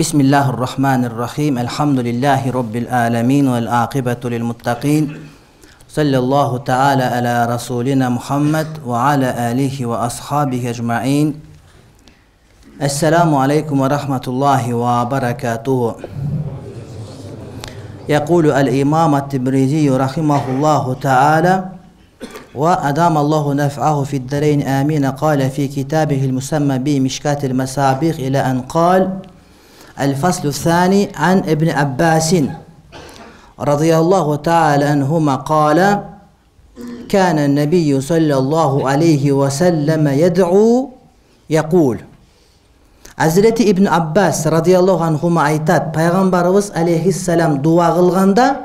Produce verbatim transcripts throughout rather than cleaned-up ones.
Bismillahirrahmanirrahim. Elhamdülillahi Rabbil alemin vel aqibatu lil muttaqin. Sallallahu ta'ala ala rasulina Muhammed ve ala alihi ve ashabihi ecma'in. Esselamu aleyküm ve rahmetullahi ve berekatuhu. يقول الإمام التبريزي رحمه الله تعالى وأدام الله نفعه في الدارين آمين قال في كتابه المسمى بمشكاة المصابيح إلى أن قال الفصل الثاني عن ابن عباس رضي الله تعالى عنهما قال كان النبي صلى الله عليه وسلم يدعو يقول Hazreti İbn Abbas radıyallahu anhuma aytat, Peygamberimiz aleyhisselam dua kılganda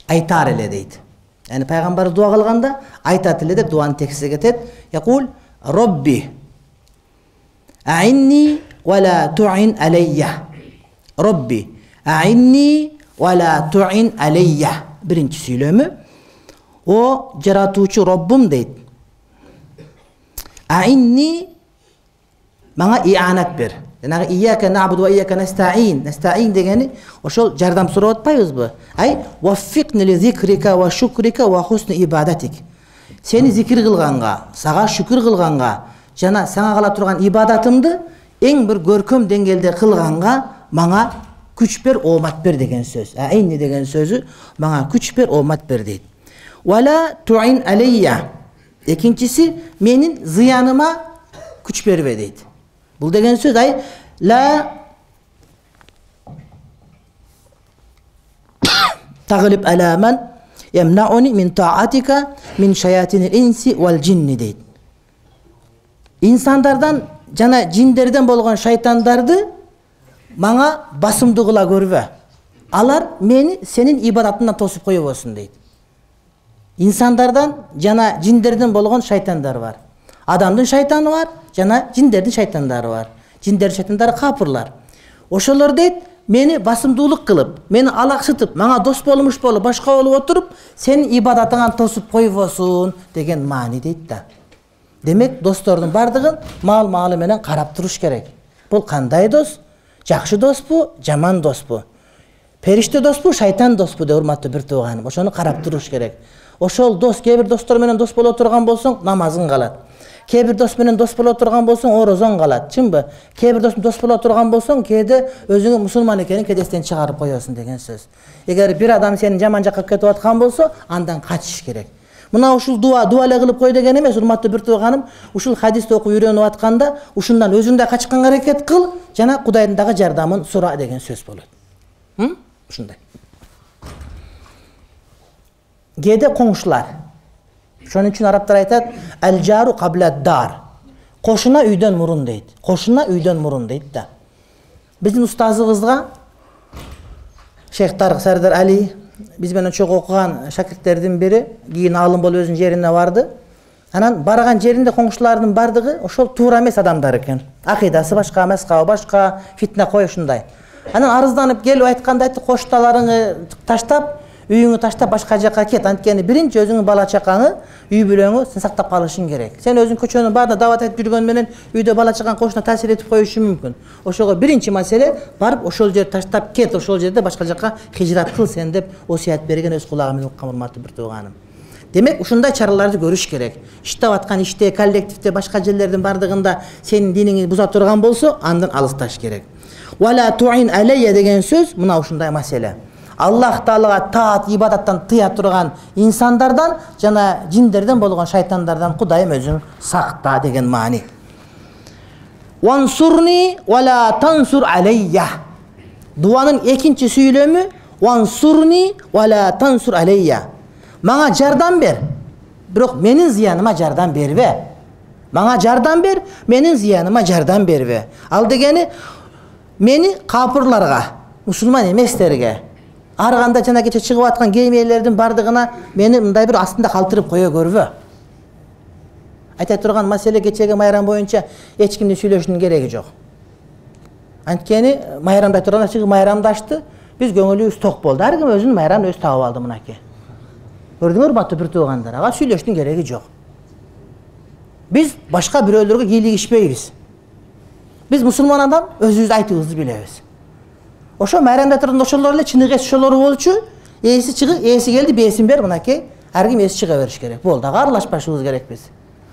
aytar ele deydi. Yani Peygamber dua kılganda aytat ele de duanın teksti getet. Yakul Rabbi a'inni ve la tu'in aleyye. Rabbi a'inni ve la tu'in aleyye. Birinci söylemi. O jaratucu Rabbim deydi. A'inni bana i'anat ber. Yani iyyake na'budu ve iyyake nesta'in. Nesta'in degeni oşol jardam surap atpayбыз bu. Ay vaffiqni li zikrika ve şukrika ve husni ibadatik. Seni zikir kılganga, sağa şükür kılganga, jana sana kala turgan ibadatımdı en bir görküm dengelde kılganga bana güç ber, omat ber degen söz. A'inni degen sözü bana güç ber, omat ber deydi. Ve la tu'in aleyye. İkincisi menin ziyanıma güç berbe deydi. Bu degen söz ay la taglib ala men yemna'uni min ta'atika min shayatinil insi vel cinni deydi. İnsanlardan jana cinlerden bolgan şeytandardı bana basımdı kıla görbe. Alar meni senin ibadatından tosup koyup olsun deydi. İnsanlardan jana cinlerden bolgan şeytandar var. Adamdın şeytanı var, jana cinlerдің şeytanları var. Cinler şeytanları kapırlar. Oşolor deyt, meni basımdуулuk kılıp, meni alaksytıp, manga dos bolmuş bolup, başka olup oturup, senin ibadatыңан tosup koyup olsun degen mani deyt da. Demek dostordun bardığın mal malı menen karap turuş gerek. Bul kanday dos? Jakşı dos bu, jaman dos bu. Perişte dos bu, şeytan dos bu de urmatlı bir tuğanım. Oşonu karap turuş gerek. Oşol dos, kebir dostor menen dos bolu oturgan bolsun, namazın kalat. Kebir dost menen dost bolo oturgan bolsoň orozon kalat. Çymby? Kebir dost dost bolo oturgan bolsoň kede özüňi musulman ekenin kedesinden çıgarıp koýarsın degen söz. Eger bir adam senin jaman jakka ketip atkan bolsa, andan kaçış gerek. Muna uşul dua, dua ele kılıp koy degen emes, urmatly bir tuğanım, uşul hadisти okup үйрөнүp atkanda, uşundan özüň da kaçkan hareket kıl, jana Kudayдын dagы jardamын sura degen söz bolot. Hı? Uşunday. Kede koňşular. Şonun için Araplar aytat, el jaru qabla dar. Koşuna üyden murun deydi. Koşuna üyden murun deydi da. Bizim ustazыбызга Şeyh Tarık Serdar Ali, biz menen çok okugan şakirtlerden biri, giyin alım bol özünün yerine vardı. Anan baragan жеринде koňşularynын bardygy oşol tuura emes adamдар eken. Akidası başka, mezhebi başka, fitne koy şunday. Anan arızdanıp gelip aytkanda aytты, koştalaryňy taştap, үйüңü taştap başka jaka ket. Antkeni birinci özüңün bala çakaňy, üy bülöňü sen saktap kalyşyň gerek. Sen özüň köçönün barda davat etip жүрgөн menen üyde bala çakan koşuna tasir etip koýuşu mümkün. Oşoga birinci mesele barıp oşol yer taştap ket, oşol jerde başka jaka hijrat kıl sen dep osiyat bergen öz kulagı menен ukkan urmatly bir tuğanım. Demek uşunday çaralарды görüş gerek. İştep atkan işte, kollektivde başka jerlerden bardığında senin diniňi buza turgan bolsa, andan alystaş gerek. Wa la tu'in aleyye degen söz muna uşunday mesele. Allah Taalaga taat ibadattan tыя turgan insanlardan jana cinlerden bolgan şeytanlardan Kudayım özüň sakta degen mani. Wansurni ve la tansur aleyye. Duanın ikinci söylemi wansurni ve la tansur aleyye. Manga jardam ber. Birok menin ziyanıma jardam berbe. Manga jardam ber, menin ziyanıma jardam berbe. Al degeni meni kapırlarga, musulman emeslerge arganda jana keche çıkıp atkan geymelerдің bardığına meni mınday bir astında kалтырып koya görbe. Ayta turgan mesele keçegi mayram boyunca hiç kimden söylöşünün geregi jok. Antkeni mayramda turgan çıkıp mayramdaştı. Biz göңülübüz tok boldu. Her kim özünün mayramını öz taap aldı mınaki. Gördüңөр batı bir tuğandar. Aga söylöşünün geregi jok. Biz başka bir öldürge giylik işpeybiz. Biz musulman adam özümüz aytыбызды bilebиz. Ошо майрамда турган ошолор эле чыныгы эс ошолор болчу. Эси чыгып, эси келди, бесин бер, мынакей. Ар ким эси чыга бериш керек. Болду, ага аралашпашыбыз керекпиз.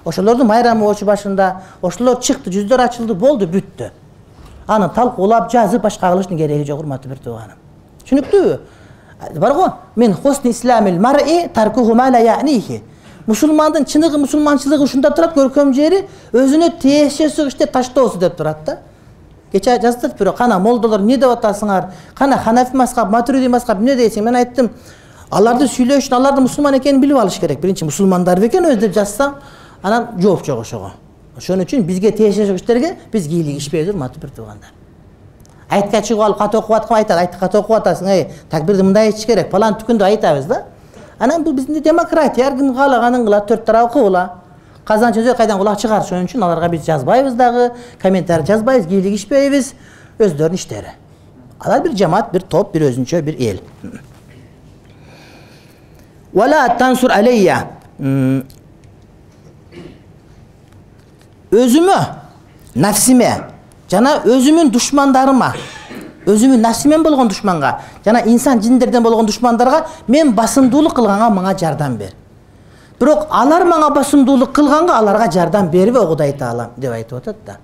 Ошолордун майрамы болчу башында, ошолор чыкты, жүздөр ачылды, болду, бүттү. Аны талкуулап, жазып, башка кылыштын кереги жок, урматтуу бир тууганым. Түшүнүктүүбү? Бар го, мен хусни исламил мар'i таркуху ма ла я'нихи. Мусулмандын чыныгы мусулманчылыгы ушунда турат, көркөм жери өзүнө тиешеси иште таштоосу деп турат да. Кече жаздырып бирок, кана молдолор эмне деп атасыңар? Кана Ханафи мазхаб, Матуриди мазхаб эмне дейсиң? Мен айттым, аларды сүйлөө үчүн алардын мусулман экенин билип алыш керек. Биринчи мусулмандар бекен өз деп жазсам, анан жооп жок ошого. Ошон үчүн бизге тиешеси иштерге биз кийлигишпейбиз, урматтуу бир туугандар. Айтка чыгып алып кат окуп аткан айтат, айтты кат окуп атасың, эй, такбирди мындай айтыш керек, фалан түкүндө айтабыз да. Анан бул биздин демократия, ар ким каалаганын кылат, төрт тарабы кыбыла. Казан чөзө кайдан кулак чыгар, ошон үчүн аларга биз жазбайбыз дагы, комментарий жазбайбыз, кийлигишпейбиз, өздөрүнүн иштери. Алар бир жамаат, бир топ, бир өзүнчө бир эл. Вала тансур алейя. Өзүмө, нафсиме, жана өзүмүн душмандарыма, өзүмүн нафсимен болгон душманга, жана инсан жиндерден болгон душмандарга мен басымдуулук кылганга мага жардам бер. Бирок алар мага басымдуулук кылганга аларга жардам бербе, Кудай Таалам деп айтып атат да.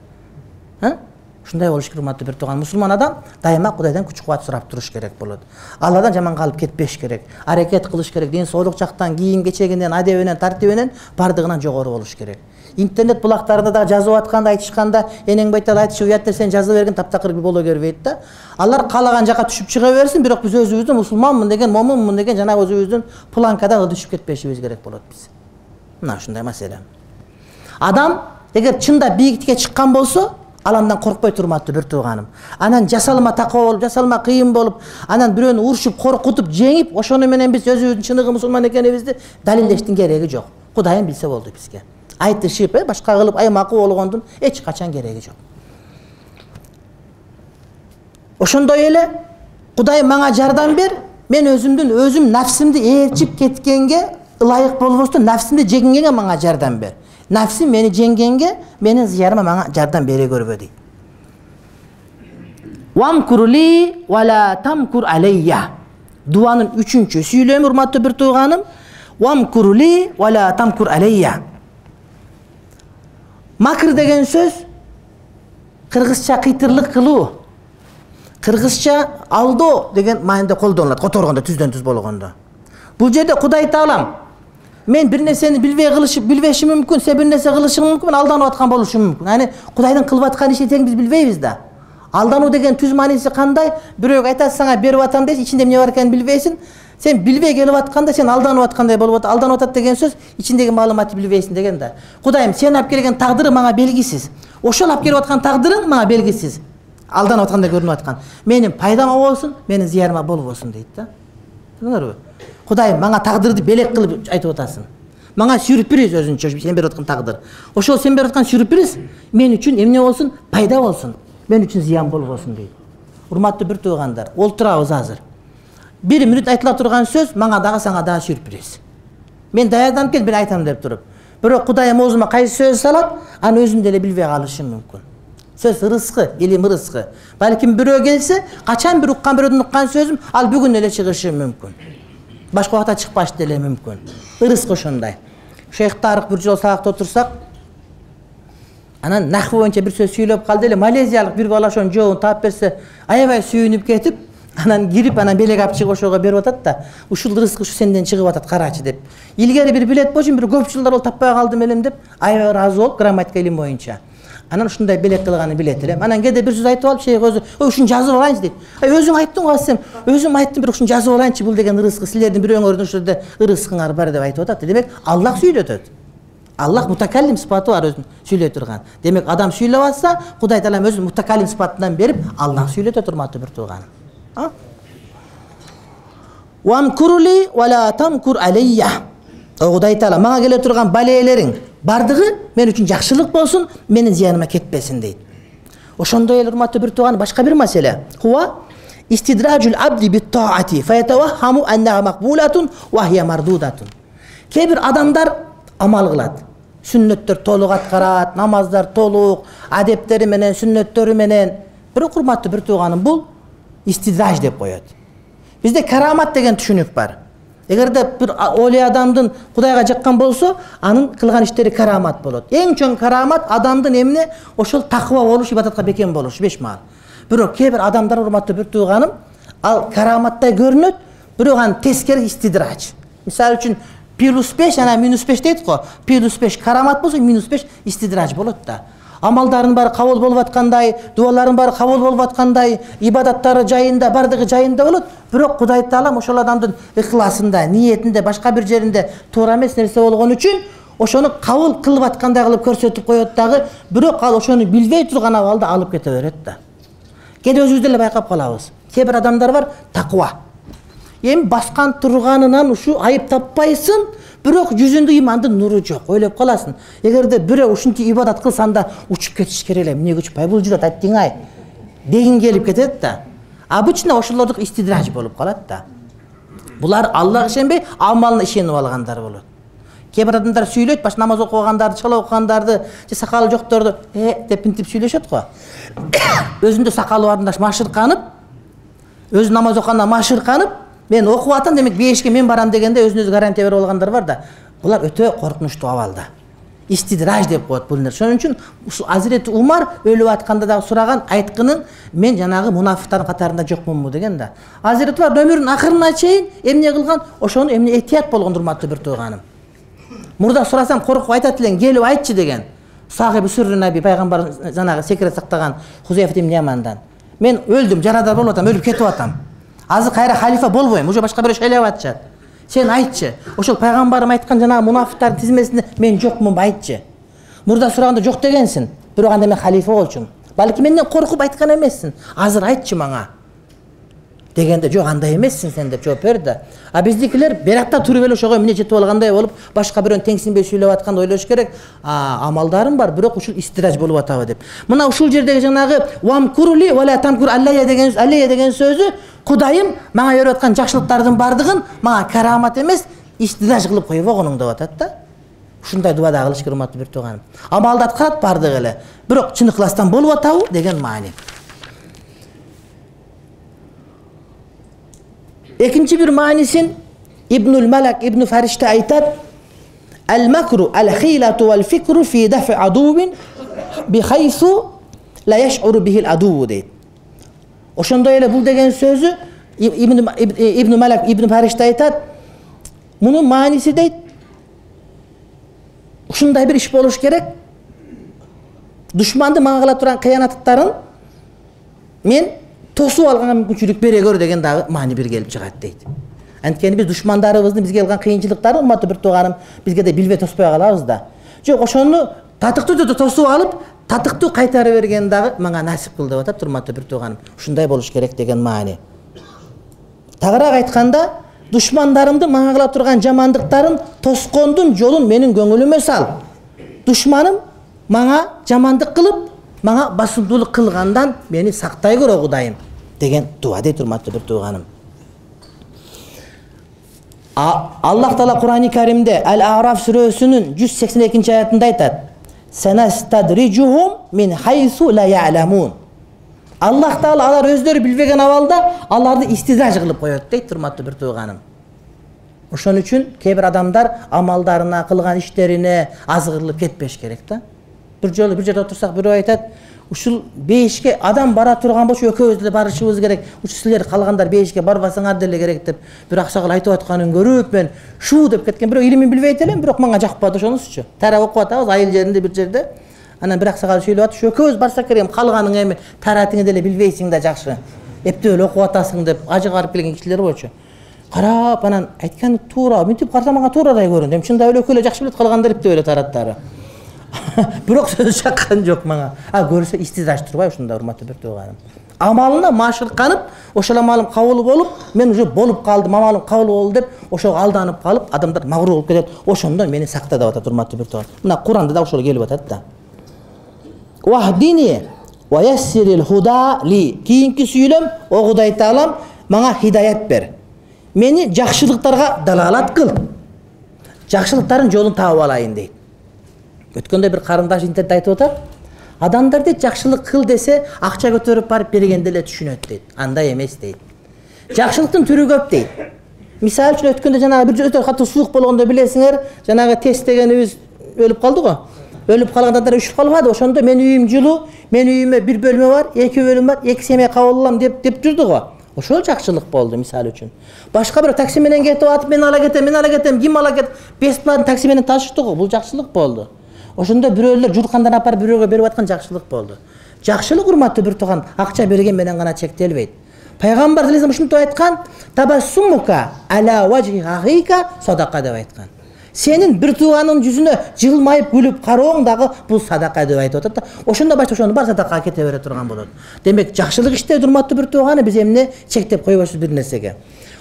Ха? Ушундай болуш керек, урматтуу бир тууган. Мусулман адам дайыма Кудайдан күч кубат сурап туруш керек болот. Алладан жаман калып кетпеш керек. Аракет кылыш керек. Ден соолук жактан, кийим кечегинен, адебинен, тартибинен бардыгынан жогору болуш керек. Интернет булактарында да жазып атканда, айтышканда, энең байтал айтышы уят нерсени жазып берген таптакыр боло бербейт да. Алар каалаган жака түшүп чыга берсин, бирок биз өзүбүздүн мусулманмын деген, момунмун деген жана өзүбүздүн планкадан түшүп кетпешибиз керек болот биз. Мына ушундай маселе. Адам эгер чында бийиктикке чыккан болсо, ал андан коркпой турматтуу бир тууганым. Анан жасалма такоо болуп, жасалма кыйын болуп, анан бирөөнү урушуп, коркутуп, жеңип, ошону менен биз өзүбүздүн чыныгы мусулман экенибизди далилдештин кереги жок. Кудайым билсе болду бизге. Айтышып, э, башка кылып аймакы болгондун эч качан кереги жок. Ошондой эле Кудай мага жардам бер, мен өзүмдүн өзүм нафсимди ээрчип кеткенге ылайык болбостон нафсимди жеңгенге мага жардам бер. Нафсим мени жеңгенге менин зыярыма мага жардам бере көрбө дейт. Вамкурли вала тамкур алейя. Дуанын үчүнчү сүйлөмү, урматтуу бир тууганым. Вамкурли вала тамкур алейя. Макр деген сөз кыргызча кыйтырлык кылуу. Кыргызча алдоо деген маанайда колдонулат, которгондо, түздөн түз болгондо. Бул жерде Кудай Таалам мен бир нерсени билбей кылышып, билбешим мүмкүн, сен бир нерсе кылышың мүмкүн, мен алданып аткан болушум мүмкүн. Аны Кудайдын кылып аткан ишин тең биз билбейбиз да. Алдануу деген түз мааниси кандай? Бирөөгө айтасың, сага берип атам дейсиң, ичинде эмне бар экенин билбейсиң. Сен билбей келип атканда сен алданып аткандай болуп атат. Алданып атат деген сөз ичиндеги маалыматты билбейсиң деген да. Кудайым, сен алып келген тагдыры мага белгисиз. Ошол алып келип аткан тагдырың мага белгисиз. Алданып аткандай көрүнүп аткан. Менин пайдама болсун, менин зыярыма болбосун дейт да. Түшүндүңөрбү? Кудайым, мага тагдырды белек кылып айтып атасың. Мага сюрприз өзүнчө сен берип аткан тагдыр. Ошол сен берип аткан сюрприз мен үчүн эмне болсун? Пайда болсун. Мен үчүн зыян болбосун дейт. Урматтуу бир туугандар, олтурабыз азыр. Бир мүнөт айтыла турган сөз мага дагы сага дагы сюрприз. Мен даярданып келип, мен айтам деп туруп. Бирок Кудайым оозума кайсы сөз салат, аны өзүм деле билбей калышым мүмкүн. Сөз ырыскы, илим ырыскы. Балким бирөө келсе, качан бир уккан бирөөдөн уккан сөзүм ал бүгүн эле чыгышы мүмкүн. Башка убакта чыкпаш деле мүмкүн. Ырыскы ошондой. Шейх Тарык бир жол сабакта отурсак, анан нахв боюнча бир сөз сүйлөп калды эле. Малезиялык бир бала ошонун жообун таап берсе, аябай сүйүнүп кетип, анан кирип, анан белек алып чыгып ошого берип атат да. Ушул ырыскы ушу сенден чыгып атат, карачы деп. Илгери бир билет болчу, бир көп жылдар ол таппай калдым элем деп, аябай ыраазы болуп, грамматика илим боюнча. Анан ушундай белек кылганын билет элем. Анан кээде бир сөз айтып алып, шейх өзү, "Ой, ушуну жазып алайынчы" дейт. "Ай, өзүң айттың го сен. Өзүм айттым, бирок ушуну жазып алайынчы, бул деген ырыскы, силердин бирөөңөрдүн ушул ырыскыңар бар" деп айтып атат. Демек, Аллах сүйлөтөт. Аллах мутакаллим сыпаты бар өзүн сүйлөй турган. Демек, адам сүйлөп атса, Кудай Таалам өзүн мутакаллим сыпатынан берип, Аллах сүйлөтөт, урматтуу бир тууганым. А? Вамкурли вала тамкур алейя. Кудай Таала мага келе турган балеелериң бардыгы мен үчүн жакшылык болсун, менин зыяныма кетпесин дейт. Ошондой эле, урматтуу бир тууган, башка бир маселе. Хуа истидраджул абди бит-таати фаятаваххаму аннаха мақбулатун ва хия мардудатун. Кээ бир адамдар амал кылат. Сүннөттөр толук аткарат, намаздар толук, адептери менен, сүннөттөрү менен. Бирок, урматтуу бир тууганым, бул истидраж деп коет. Бизде карамат деген түшүнүк бар. Эгерде бир оли адамдын Кудайга жаккан болсо, анын кылган иштери карамат болот. Эң чоң карамат адамдын эмне? Ошол таква болуш, ибадатка бекем болуш, бешмаал. Бирок кээ бир адамдар, урматтуу бир тууганым, ал караматтай көрүнөт, бирок анын тескери истидраж. Мисалы үчүн плюс беш, ана минус беш дейт го. плюс беш карамат болсо, минус беш истидраж болот да. Амалдарын баары кабыл болуп аткандай, дуаларын баары кабыл болуп аткандай, ибадаттары жайында, бардыгы жайында болот. Бирок Кудай Таалам ошол адамдын ыхласында, ниетинде, башка бир жеринде туура эмес нерсе болгон үчүн ошону кабыл кылып аткандай кылып көрсөтүп коет дагы, бирок ал ошону билбей турган абалда алып кете берет да. Кээде өзүбүз деле байкап калабыз. Кээ бир адамдар бар, таква. Эми баскан турганынан ушу айып таппайсың, бирок жүзүндө имандын нуру жок. Ойлоп каласың. Эгерде бирөө ушунча ибадат кылсаң да учуп кетиш керек эле. Эмне күчпай бул жүрөт, аттиңай. Дегин келип кетет да. Обычно ошолордук истидраж болуп калат да. Булар Аллага ишенбей, амалына ишенип алгандар болот. Кээ бир адамдар сүйлөйт, баш намаз окугандарды, чала окугандарды, же сакалы жокторду э деп интип сүйлөшөт го. Өзүндө сакалы барында машырканып, өзү намаз окуганда машырканып, мен окуп атам, демек бешке мен барам дегенде өзүнө өзү гарантия берип алгандар бар да. Булар өтө коркунучтуу абалда. Истидраж деп коет бул нерсе. Ошон үчүн ушул Азирети Умар өлүп атканда дагы сураган, айткынын мен жанагы мунафиктардын катарында жокмунбу деген да. Азирети Умар өмүрүнүн акырына чейин эмне кылган? Ошону эмне этият болгон, урматтуу бир тууганым. Мурда сурасам коркуп айтат элең, келип айтчы деген. Сахиби Сүррү Наби пайгамбар жанагы секрет сактаган Хузайфа ибн Ямандан. Мен өлдүм, жарадар болуп атам, өлүп кетип атам. Азыр кайра халифа болбойм, уже башка бирөө шайлап атышат. Сен айтчы, ошол пайгамбарым айткан жанагы мунафиктардын тизмесинде мен жокмун, айтчы. Мурда сураганда жок дегенсиң, бирок анда мен халифа болчумун. Балки менден коркуп айткан эмессиң. Азыр айтчы мага. Дегенде жок, андай эмессиң сен деп жооп берди. А биздикилер беракта туруп эле ошого эмне жетип алгандай болуп, башка бирөөнү теңсинбей сүйлөп атканда ойлош керек. А амалдарым бар, бирок ушул истидраж болуп атабы деп. Мына ушул жердеги жанагы вамкурли вала тамкур аллая деген аллая деген сөзү, Кудайым мага берип аткан жакшылыктардын бардыгын мага карамат эмес, истидраж кылып коюп койгонуң деп атат да. Ушундай дуа да кылыш керек, урматтуу бир тууганым. Амалды аткарат бардыгы эле, бирок чын ыхластан болуп атабы деген маани. Экинчи бир маанисин Ибнул Малак Ибн Фаришта айтат: "Ал-макру ал-хилату вал-фикру фи даф'i адувин бихайсу ла яш'уру бихил адуву" дейт. Ошондой эле бул деген сөзү Ибн Ибн Малак Ибн Фаришта айтат, мунун мааниси дейт, ушундай бир иш болуш керек. Душманды мага кыла турган кыянаттарын мен тосуп алганга мүмкүнчүлүк бере көр деген дагы маани бир келип чыгат дейт. Анткени биз душмандарыбыздын бизге кылган кыйынчылыктарын, урматтуу бир тууганым, бизге да билбей тоспой калабыз да. Жок, ошону татыктуу түрдө тосуп алып, татыктуу кайтарып берген дагы мага насип кыл деп атат, урматтуу бир тууганым. Ушундай болуш керек деген маани. Тагыраак айтканда, душмандарымды мага кыла турган жамандыктарын тоскондун жолун менин көңүлүмө сал. Душманым мага жамандык кылып, мага басымдуулук кылгандан мени сактай көр, Кудайым деген дуа дейт, урматтуу бир тууганым. Аллах Таала Кур'ани Каримде Ал-А'раф сүрөсүнүн жүз сексен экинчи аятында айтат: "Санастадрижухум мин хайсу ла я'ламун". Аллах Таала алар өздөрү билбеген абалда аларды истидраж кылып коет дейт, урматтуу бир тууганым. Ошон үчүн кээ бир адамдар амалдарына, кылган иштерине азгырылып кетпеш керек да. Бир жолу бир жерде отурсак, бирөө айтат: "Ушул бейишке адам бара турган болчу, экөөбүз деле барышыбыз керек. Ушул силер калгандар бейишке барбасаңар деле керек" деп бир аксагал айтып атканын көрүп, мен шу деп кеткен. Бирок илимин билбейт элем, бирок мага жакпады ошонусучу. Тарап окуп атабыз айыл жеринде бир жерде. Анан бир аксагал сүйлөп атып, "Экөөбүз барсак керек, калганың эми таратыңы деле билбейсиң да жакшы. Эптеп эле окуп атасың" деп ажыгарып келген кишилер болчу. Карап, анан айткан туура, мынтип карасам мага туурадай көрүндү. Эми чындап эле экөө эле жакшы билет, калгандар эптеп эле тараттары. Бирок сөз чаккан жок мага. А көрсө истидраж турбай ушунда, урматтуу бир тууганым. Амалына машырканып, ошол амалым кабыл болуп, мен уже болуп калдым, амалым кабыл болду деп, ошого алданып калып, адамдар магрур болуп кетет. Ошондон мени сакта деп атат, урматтуу бир тууганым. Мына Куранда да ошол келип атат да. "Вахдини ва яссирил худа ли". Кийинки сүйлөм: "О Кудай Таалам, мага хидаят бер. Мени жакшылыктарга далалат кыл. Жакшылыктардын жолун таап алайын" дейт. Өткөндө бир карындаш интернетте айтып атат: Адамдар дейт жакшылык кыл десе акча көтөрүп барып бергенде эле түшүнөт дейт. Андай эмес дейт. Жакшылыктын түрү көп дейт. Мисалы үчүн өткөндө жанагы бир өтө катуу суук болгондо билесиңер, жанагы тест дегенибиз өлүп калды го. Өлүп калган адамдар үшүп калбады. Ошондо мен үйүм жылуу, мен үйүмө бир бөлмө бар, эки бөлмө бар, эки семья кабыл алам деп деп жүрдү го. Ошол жакшылык болду мисалы үчүн. Башка бир такси менен кетип атып мен ала кетем, мен ала кетем, ким ала кет? Бесплатно такси менен ташышты го. Бул жакшылык болду. Ошондо бирөөлөр журкандан апарып бирөөгө берип аткан жакшылык болду. Жакшылык урматтуу бир тууган акча берген менен гана чектелбейт. Пайгамбар саллаллаху алейхи ушинтип айткан: "Табассумука ала важхи ахика садака" деп айткан. Сенин бир тууганын жүзүнө жылмайып күлүп карооң дагы бул садака деп айтып атат да. Ошондо башка ошону бар садакага кете бере турган болот. Демек жакшылык иштеди урматтуу бир тууганы биз эмне чектеп койбойбуз бир нерсеге.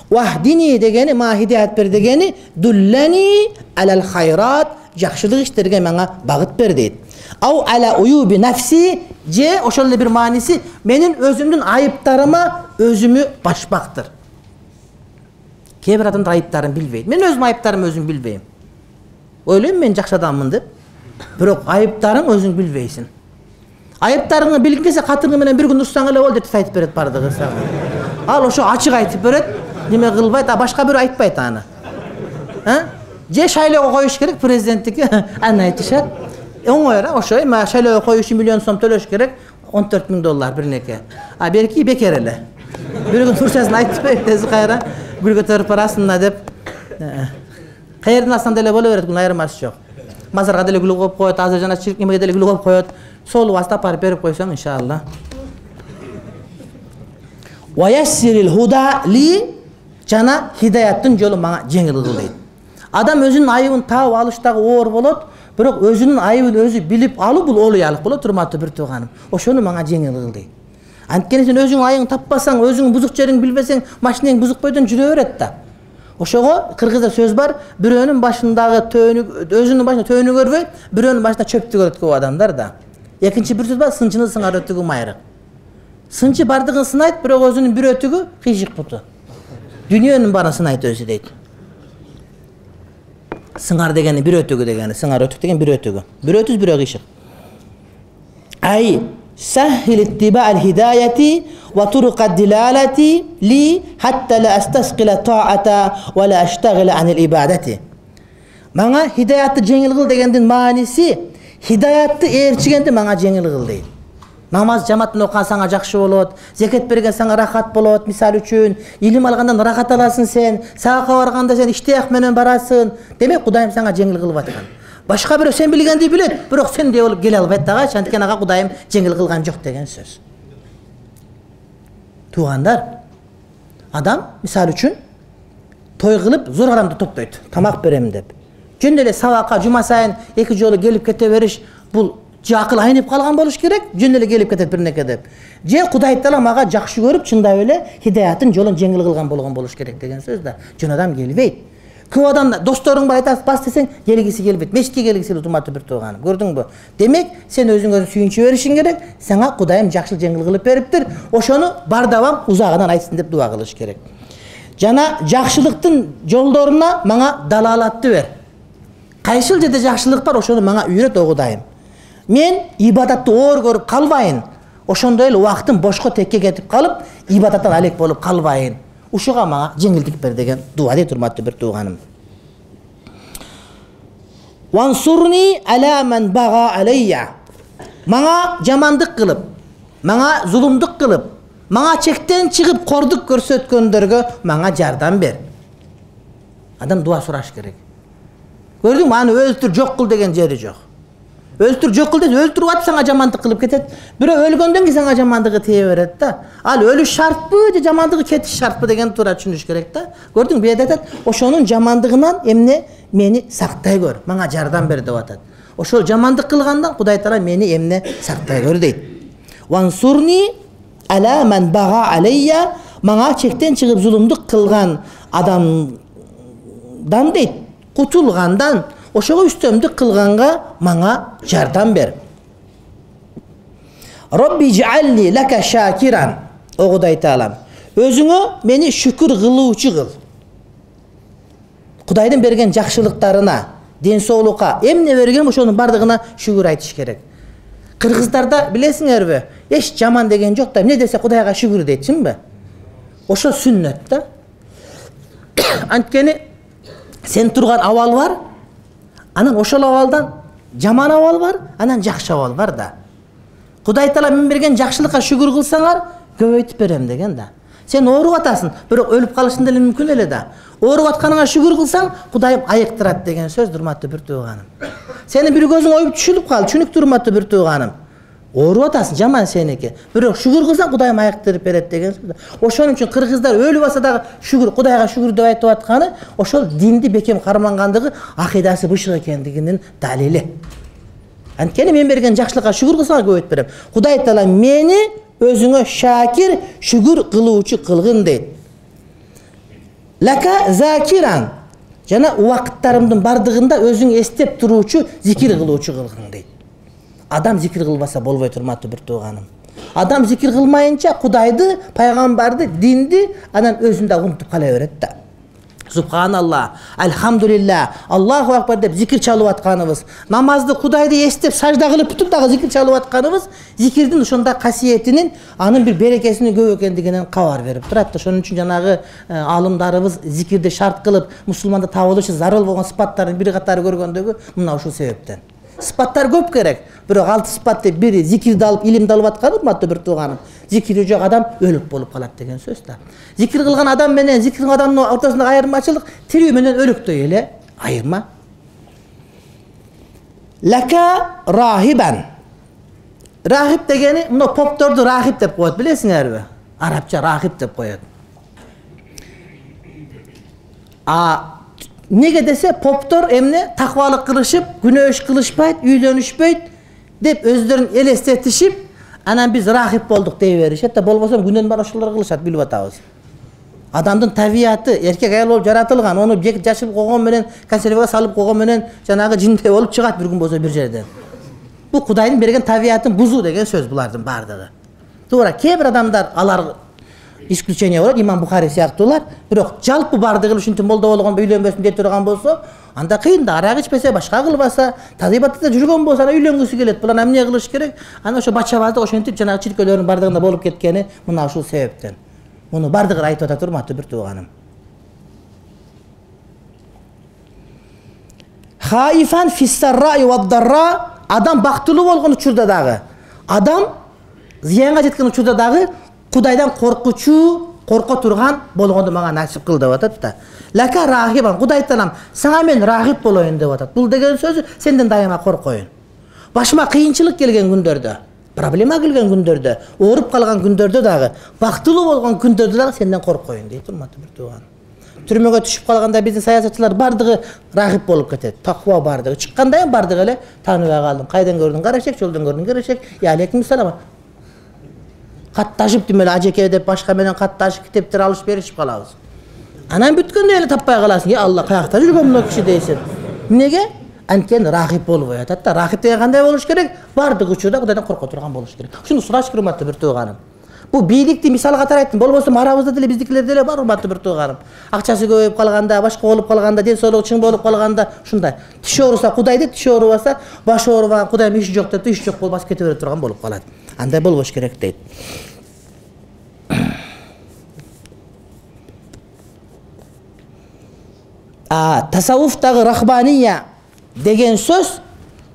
Вахдини дегени, ма хидият бер дегени, дуллани алал хайрат, жакшылык иштерге мага багыт бер дейт. Ау ала уюби нафси, же ошол эле бир мааниси менин өзүмдүн айыптарыма өзүмү башпактыр. Кээ бир адамдар айыптарын билбейт. Мен өзүм айыптарымды өзүм билбейм. Ойлойм мен жакшы адаммын деп. Бирок айыптарың өзүң билбейсиң. Айыптарыңды билгиң келсе катырың менен бир күн урсаң эле болду деп айтып берет бардыгы сага. Ал ошо ачык айтып берет, неме кылбайт, а башка бирөө айтпайт аны. А? Же шайлоого коюш керек президенттикке, аны айтышат. Оңой эле, ошо эми шайлоого коюш үчүн миллион сом төлөш керек, он төрт миң доллар бир неке. А берки бекер эле. Бир күн турчасын айтып берет, тез кайра гүл көтөрүп барасың деп. Каерден алсаң деле боло берет, күн айырмасы жок. Мазарга деле гүл коюп коет, азыр жана чиркемге деле гүл коюп коет. Солуп астап барып берип койсоң иншалла. Ва яссирил худа ли, жана хидаяттын жолу мага жеңил кыл дейт. Адам өзүнүн айыбын таап алыштагы оор болот, бирок өзүнүн айыбын өзү билип алуу бул олуялык болот, урматтуу бир тууганым. Ошону мага жеңил кыл дейт. Анткени сен өзүң айыбыңды таппасаң, өзүң бузук жериңди билбесең, машинең бузук бойдон жүрө берет да. Ошого кыргызда сөз бар, бирөөнүн башындагы төөнү, өзүнүн башында төөнү көрбөй, бирөөнүн башында чөптү көрөт көп адамдар да. Экинчи бир сөз бар, сынчыны сыңар өтүгү майрык. Сынчы бардыгын сынайт, бирок өзүнүн бир өтүгү кыйшык буту. Дүйнөнүн баарын сынайт өзү дейт. Сыңар дегени бир өтүгү дегени, сыңар өтүк деген бир өтүгү. Бир өтүз бирөө кыйшык. Ай سهل اتباع الهداية وطرق الدلالة لي حتى لا أستثقل الطاعة ولا أشتغل عن الإبادة. Мага хидаятты жеңил кыл дегендин мааниси, хидаятты ээрчигенди мага жеңил кыл дейт. Намаз жамааттан окуган сага жакшы болот, закат берген сага рахат болот, мисалы үчүн, илим алгандан рахат аласың сен, саакка барганда сен иштияк менен барасың. Демек Кудайым сага жеңил кылып аткан. Башка бирөө сен билгенди билет, бирок сен деп болуп келе албайт дагы, анткени ага Кудайым жеңил кылган жок деген сөз. Туугандар, адам мисалы үчүн той кылып зор адамды топтойт, тамак берем деп. Жөн эле сабакка жума сайын эки жолу келип кете бериш, бул же акыл айнып калган болуш керек, жөн эле келип кетет бир неке деп. Же Кудай Таала мага жакшы көрүп, чындап эле хидаяттын жолун жеңил кылган болгон болуш керек деген сөз да. Жөн адам келбейт. Көп адам досторуң бар айтасың, бас десең, келгиси келбейт. Мешитке келгиси келет, урматтуу бир тууганым. Көрдүңбү? Демек, сен өзүңө сүйүнчү беришиң керек. Сага Кудайым жакшылык жеңил кылып бериптир. Ошону бар давам узагынан айтсын деп дуа кылыш керек. Жана жакшылыктын жолдоруна мага далалатты бер. Кайсыл жерде жакшылык бар, ошону мага үйрөт о Кудайым. Мен ибадатты оор көрүп калбайын. Ошондой эле убактым бошко текке кетип калып, ибадаттан алек болуп калбайын. Ушуга мага жеңилдик бер деген дуа дейт урматтуу бир тууганым. Вансурни ала ман бага алейя. Мага жамандык кылып, мага зулумдук кылып, мага чектен чыгып кордук көрсөткөндөргө мага жардам бер. Адам дуа сураш керек. Көрдүңбү, аны өлтүр, жок кыл деген жери жок. Өлтүр, жок кыл десе, өлтүрүп атып сага жамандык кылып кетет. Бирөө өлгөндөн кийин сага жамандыгы тие берет да. Ал өлүш шартпы же жамандыгы кетиш шартпы деген туура түшүнүш керек да. Көрдүң, бу жерде айтат, ошонун жамандыгынан эмне мени сактай көр, мага жардам бер деп атат. Ошол жамандык кылгандан Кудай Таала мени эмне сактай көр дейт. Вансурни ала ман бага алейя, мага чектен чыгып зулумдук кылган адамдан дейт, кутулгандан, ошого үстөмдүк кылганга мага жардам бер. Робби жаални лака шакиран. О Кудай Таалам, өзүңө мени шүкүр кылуучу кыл. Кудайдын берген жакшылыктарына, ден соолукка эмне берген ошонун бардыгына шүгүр айтыш керек. Кыргыздарда билесиңерби, эч жаман деген жок да, эмне десе Кудайга шүгүр дейт, чынбы? Ошо сүннөт да. Анткени сен турган абал бар, анан ошол абалдан жаман абал бар, анан жакшы абал бар да. Кудай Таала мен берген жакшылыкка шүгүр кылсаңар, көбөйтүп берем деген да. Сен ооруп атасың, бирок өлүп калышың деле мүмкүн эле да. Ооруп атканыңа шүгүр кылсаң, Кудайым айыктырат деген сөз, урматтуу бир тууганым. Сени бир көзүң оюп түшүлүп калды, түшүнүктүү урматтуу бир тууганым. Ооруп атасың, жаман сеники. Бирок шүгүр кылсаң, Кудайым айыктырып берет деген сөз. Ошон үчүн кыргыздар өлүп атса дагы шүгүр, Кудайга шүгүр деп айтып атканы, ошол динди бекем кармангандыгы, акыйдасы бышык экендигинин далили. Анткени мен берген жакшылыкка шүгүр кылсаңар көбөйтүп берем. Кудай Таала мени өзүңө шакир, шүгүр кылуучу кылгын дейт. Лака закиран. Жана убакыттарымдын бардыгында өзүң эстеп туруучу, зикир кылуучу кылгын дейт. Адам зикир кылбаса болбойт, урматтуу бир тууганым. Адам зикир кылмайынча Кудайды, пайгамбарды, динди анан өзүндө унутуп кала берет да. Субханалла, альхамдулилля, Аллаху акбар деп зикир чалып атканыбыз, намазды Кудайды эстеп сажда кылып бүтүп дагы зикир чалып атканыбыз, зикирдин ошондой касиетинин, анын бир берекесинин көп экендигинен кабар берип турат. Ошон үчүн жанагы алымдарыбыз зикирди шарт кылып, мусулманда табылышы зарыл болгон сыпаттардын бир катары көргөндөгү мына ушул себептен. Сыпаттар көп керек, бирок алты сыпат деп бири зикирди алып, илимди алып аткан, урматтуу бир тууганым. Зикири жок адам өлүк болуп калат деген сөз да. Зикир кылган адам менен зикир кылган адамдын ортосундагы айырмачылык тирүү менен өлүктөй эле айырма. Лака рахибан. Рахиб дегени мына попторду рахиб деп коет, билесиңерби? Арабча рахиб деп коет. А неге десе, поптор эмне таквалык кылышып, күнөөш кылышпайт, үйлөнүшпөйт деп өздөрүн элестетишип, анан биз рахиб болдук дей беришет да, болбосо күнөн бар ошолор кылышат, билип атабыз. Адамдын табияты эркек аял болуп жаратылган, ону жашылып койгон менен, консервага салып койгон менен жанагы жиндей болуп чыгат бир күн болсо бир жерден. Бул Кудайдын берген табиятын бузуу деген сөз булардын бардыгы. Туура, кээ бир адамдар алар исключение болот, Имам Бухари сыяктуулар, бирок жалпы бардыгы ушинтип молдо болгондо үйлөнбөсүн деп турган болсо, анда кыйын да, арак ичпесе, башка кылбаса, тазибатта жүргөн болсо, ана үйлөнгүсү келет. Бул ана эмне кылыш керек? Ана ошо бачабазды ошентип жанагы чиркөөлөрдүн бардыгында болуп кеткени мына ушул себептен. Муну бардыгын айтып атат, урматтуу бир тууганым. Хаифан фиссарра ва дарра, адам бактылуу болгон учурда дагы, адам зыянга жеткен учурда дагы Кудайдан коркучу, корко турган болгонду мага насип кыл деп атат да. Лака рахибан, Кудай Таалам, сага мен рахиб болоюн деп атат. Бул деген сөзү сенден дайыма коркоюн. Башыма кыйынчылык келген күндөрдө, проблема келген күндөрдө, ооруп калган күндөрдө дагы, бактылуу болгон күндөрдө дагы сенден коркоюн дейт, урматтуу бир тууган. Түрмөгө түшүп калганда биздин саясатчылар бардыгы рахиб болуп кетет. Таква бардыгы. Чыкканда эми бардыгы эле тааныбай калдым. Кайдан көрдүң? Карашек, жолдон көрдүң? Карашек. Я алейкум салам. Катташып демеле ажеке деп башка менен катташып китептер алыш беришип калабыз. Анан бүткөндө эле таппай каласың. Я Алла, каякта жүргөн мына киши дейсиң. Эмнеге? Анткени рахиб болбой атат да. Рахиб деген кандай болуш керек? Бардык учурда Кудайдан корко турган болуш керек. Ушуну сураш урматтуу бир тууганым. Бул бийликти мисал катары айттым. Болбосо арабызда деле биздикилер деле бар, урматтуу бир тууганым. Акчасы көбөйүп калганда, башка болуп калганда, ден соолугу чың болуп калганда, ушундай. Тиш ооруса Кудайды, тиш оорубаса, баш оорубаган Кудайым иши жок деп, иш жок болуп басып кете бере турган болуп калат. Андай болбош керек дейт. А тасаввуфтагы рахбания деген сөз,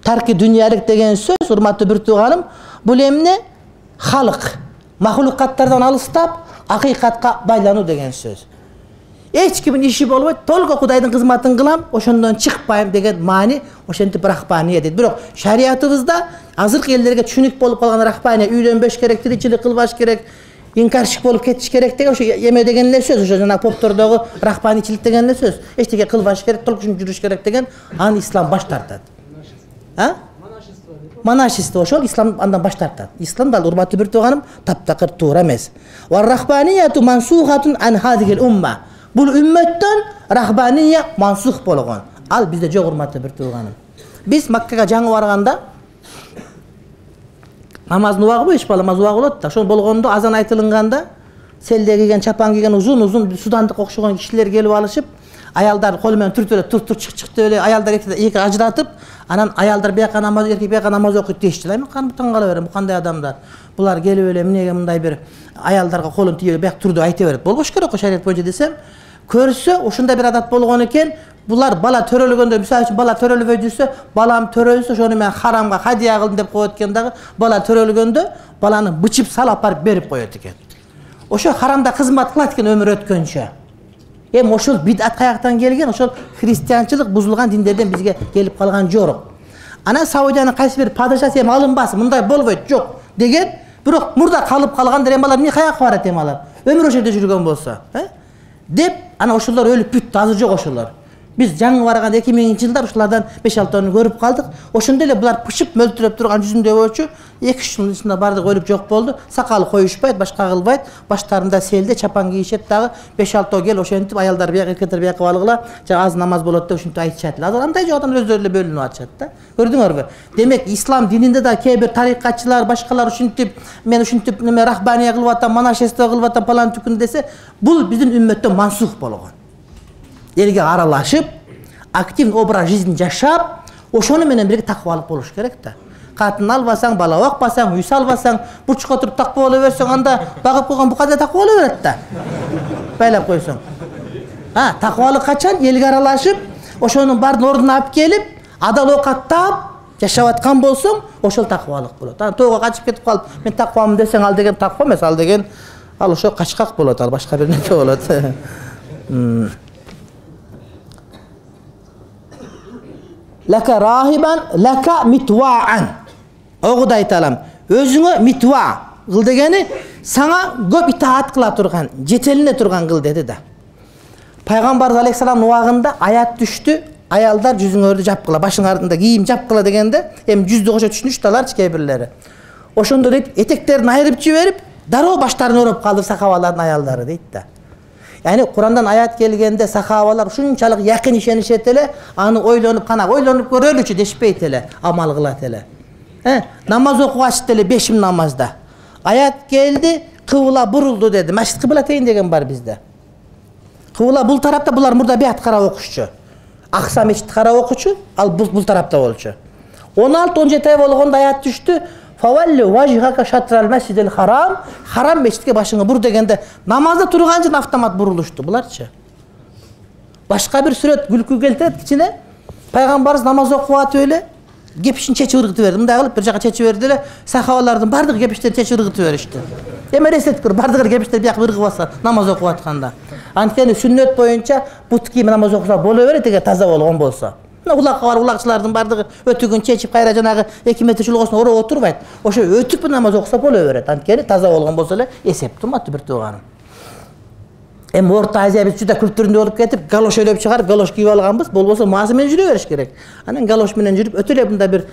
тарки дүниялык деген сөз, урматтуу бир тууганым, бул эмне? Халык, махлукаттардан алыстап, акыйкатка байлануу деген сөз. Эч кимдин иши болбойт, толго Кудайдын кызматын кылам, ошондон чыкпайм деген маани, ошентип рахбания дейт. Бирок шариятыбызда азыркы элдерге түшүнүк болуп калган рахбания, үйлөнбөш керек, тиричилик кылбаш керек, инкарчык болуп кетиш керек деген ошо эме деген эле сөз, ошо жана поптордогу рахбаничилик деген эле сөз. Эчтеке кылбаш керек, толкушун жүрүш керек деген, аны ислам баш тартат. А? Монашество ошол ислам андан баш тартат. Ислам да урматтуу бир тууганым таптакыр туура эмес. Ва рахбанияту мансухатун ан хадигил умма. Бул үммөттөн рахбания мансух болгон. Ал бизде жок, урматтуу бир тууганым. Биз Маккага жаңы барганда намаздын убагы эч бала намаз убагы болот да. Ошол болгондо азан айтылынганда селде кийген, чапан кийген узун-узун судандык окшогон кишилер келип алышып, аялдар колу менен түртүп эле тур тур чык чык деп эле аялдар эки ажыратып, анан аялдар бияка намаз, эркек бияка намаз окуйт дейишти. Эми таң кала берем, бу кандай адамдар? Булар келип эле эмнеге мындай бир аялдарга колун тийип бияк тур деп айта берет. Болбош керек го шарият боюнча десем, көрсө ушундай бир адат болгон экен. Булар бала төрөлгөндө, мисалы үчүн бала төрөлбөй жүрсө, балам төрөлсө, ошону мен харамга хадия кылдым деп коет экен дагы. Бала төрөлгөндө баланы бычып салып барып берип коет экен. Ошо харамда кызмат кылат экен өмүр өткөнчө. Эми ошол бидат каяктан келген? Ошол христианчылык бузулган диндерден бизге келип калган жорук. Анан Саудиянын кайсы бир падышасы эми алынбасын, мындай болбойт, жок деген, бирок мурда калып калгандар эми алар эмне каяка барат эми алар? Өмүр ошол жерде жүргөн болсо, э? Деп, анан ошолор өлүп бүттү, азыр жок ошолор. Биз жаңы барган эки миңинчи жылдар ушулардан беш алтыны көрүп калдык. Ошондой эле булар пышып мөлтүрөп турган жүзүндө болчу. эки үч жылдын ичинде бардыгы өлүп жок болду. Сакалы коюшпайт, башка кылбайт. Баштарында селде чапан кийишет дагы. беш алтоо кел ошентип аялдар бияк, эркектер бияк кылып алгыла. Жана аз намаз болот деп ушинтип айтышат эле. Азыр андай жок, адам өздөрү эле бөлүнүп атышат да. Көрдүңөрбү? Демек, ислам дининде да кээ бир тарикатчылар, башкалар ушинтип, мен ушинтип неме рахбания кылып атам, монашество кылып атам, палан түкүн десе, бул биздин үммөттө мансух болгон. Элге аралашып, активный образ жизни жашап, ошону менен бирге таквалык болуш керек да. Катын албасаң, бала бакпасаң, үй салбасаң, бурчукка отуруп таква боло берсең, анда багып койгон букада таква боло берет да. Байлап койсоң. А, таквалык качан? Элге аралашып, ошонун баарын ордуна алып келип, адал оокаттап жашап аткан болсоң, ошол таквалык болот. Ана тоого качып кетип калып, мен таквамын десең, ал деген таква эмес, ал деген ал ошо качкак болот, ал башка бир нерсе болот. Лака рахибан, лака митваан. Огуд айталам. Өзүңө митва кыл дегени сага көп итаат кыла турган, жетелине турган кыл деди да. Пайгамбарыбыз алейхиссалам убагында аят түштү. Аялдар жүзүңөрдү жапкыла, башыңарда кийим жапкыла дегенде, эми жүздү кошо түшүнүштү алар кээ бирлери. Ошондо дейт, этектерин айырып жиберип, дароо баштарын ороп калды сахабалардын аялдары дейт да. Yani Kur'an'dan ayet gelgende sahabalar şunçalık yakın işenişet ele, anı oylonуп kana oylonуп görölüçü deşpeyt ele, amal kılat ele. He, namaz okuvaçtı ele beşim namazda. Ayet geldi, kıvla buruldu dedi. Meşrit kıblateyn degen var bizde. Kıvla bul tarafta bular murda bir at kara okuşçu. Aksa meşrit kara okuşçu, al bul, bul tarafta olçu. on altı on yedi ay bolğonda ayet düştü. Favalli vajhaka şatral mescidil haram, haram meşitke başını bur degende namazda turgancın avtomat buruluştu bularçı. Başka bir süret gülkü keltirет içine Peygamberimiz namaz okuvat öyle gepişin çeçi ırgıtı verdi. Mınday kılıp bir jaka çeçi verdi ele sahabalardan bardık gepişleri çeçi ırgıtı verişti. Eme reset kır bardık gepişleri bir yak ırgı basa namaz okuvatkanda. Antkeni sünnet boyunca but kiyimi namaz okusa bolu verir tege taza bolğon bolsa. Ulakka var, ulakçılardan bardığı ötügün çeçip kayra janağı iki metre çulğusuna oraya oturbaydı. Oşo ötüp bir namaz okusa bolu verir. Antkeni taza bolğon bolsa ele esep turmatı bir tuğanım. Em Orta Aziya biz juda kültüründe olup ketip galoş öylep çıkarıp galoş kiyip alganbız. Bolbosa mazy menен жүрө beriş gerek. Anan galoş menен жүрüp ötüle bunda bir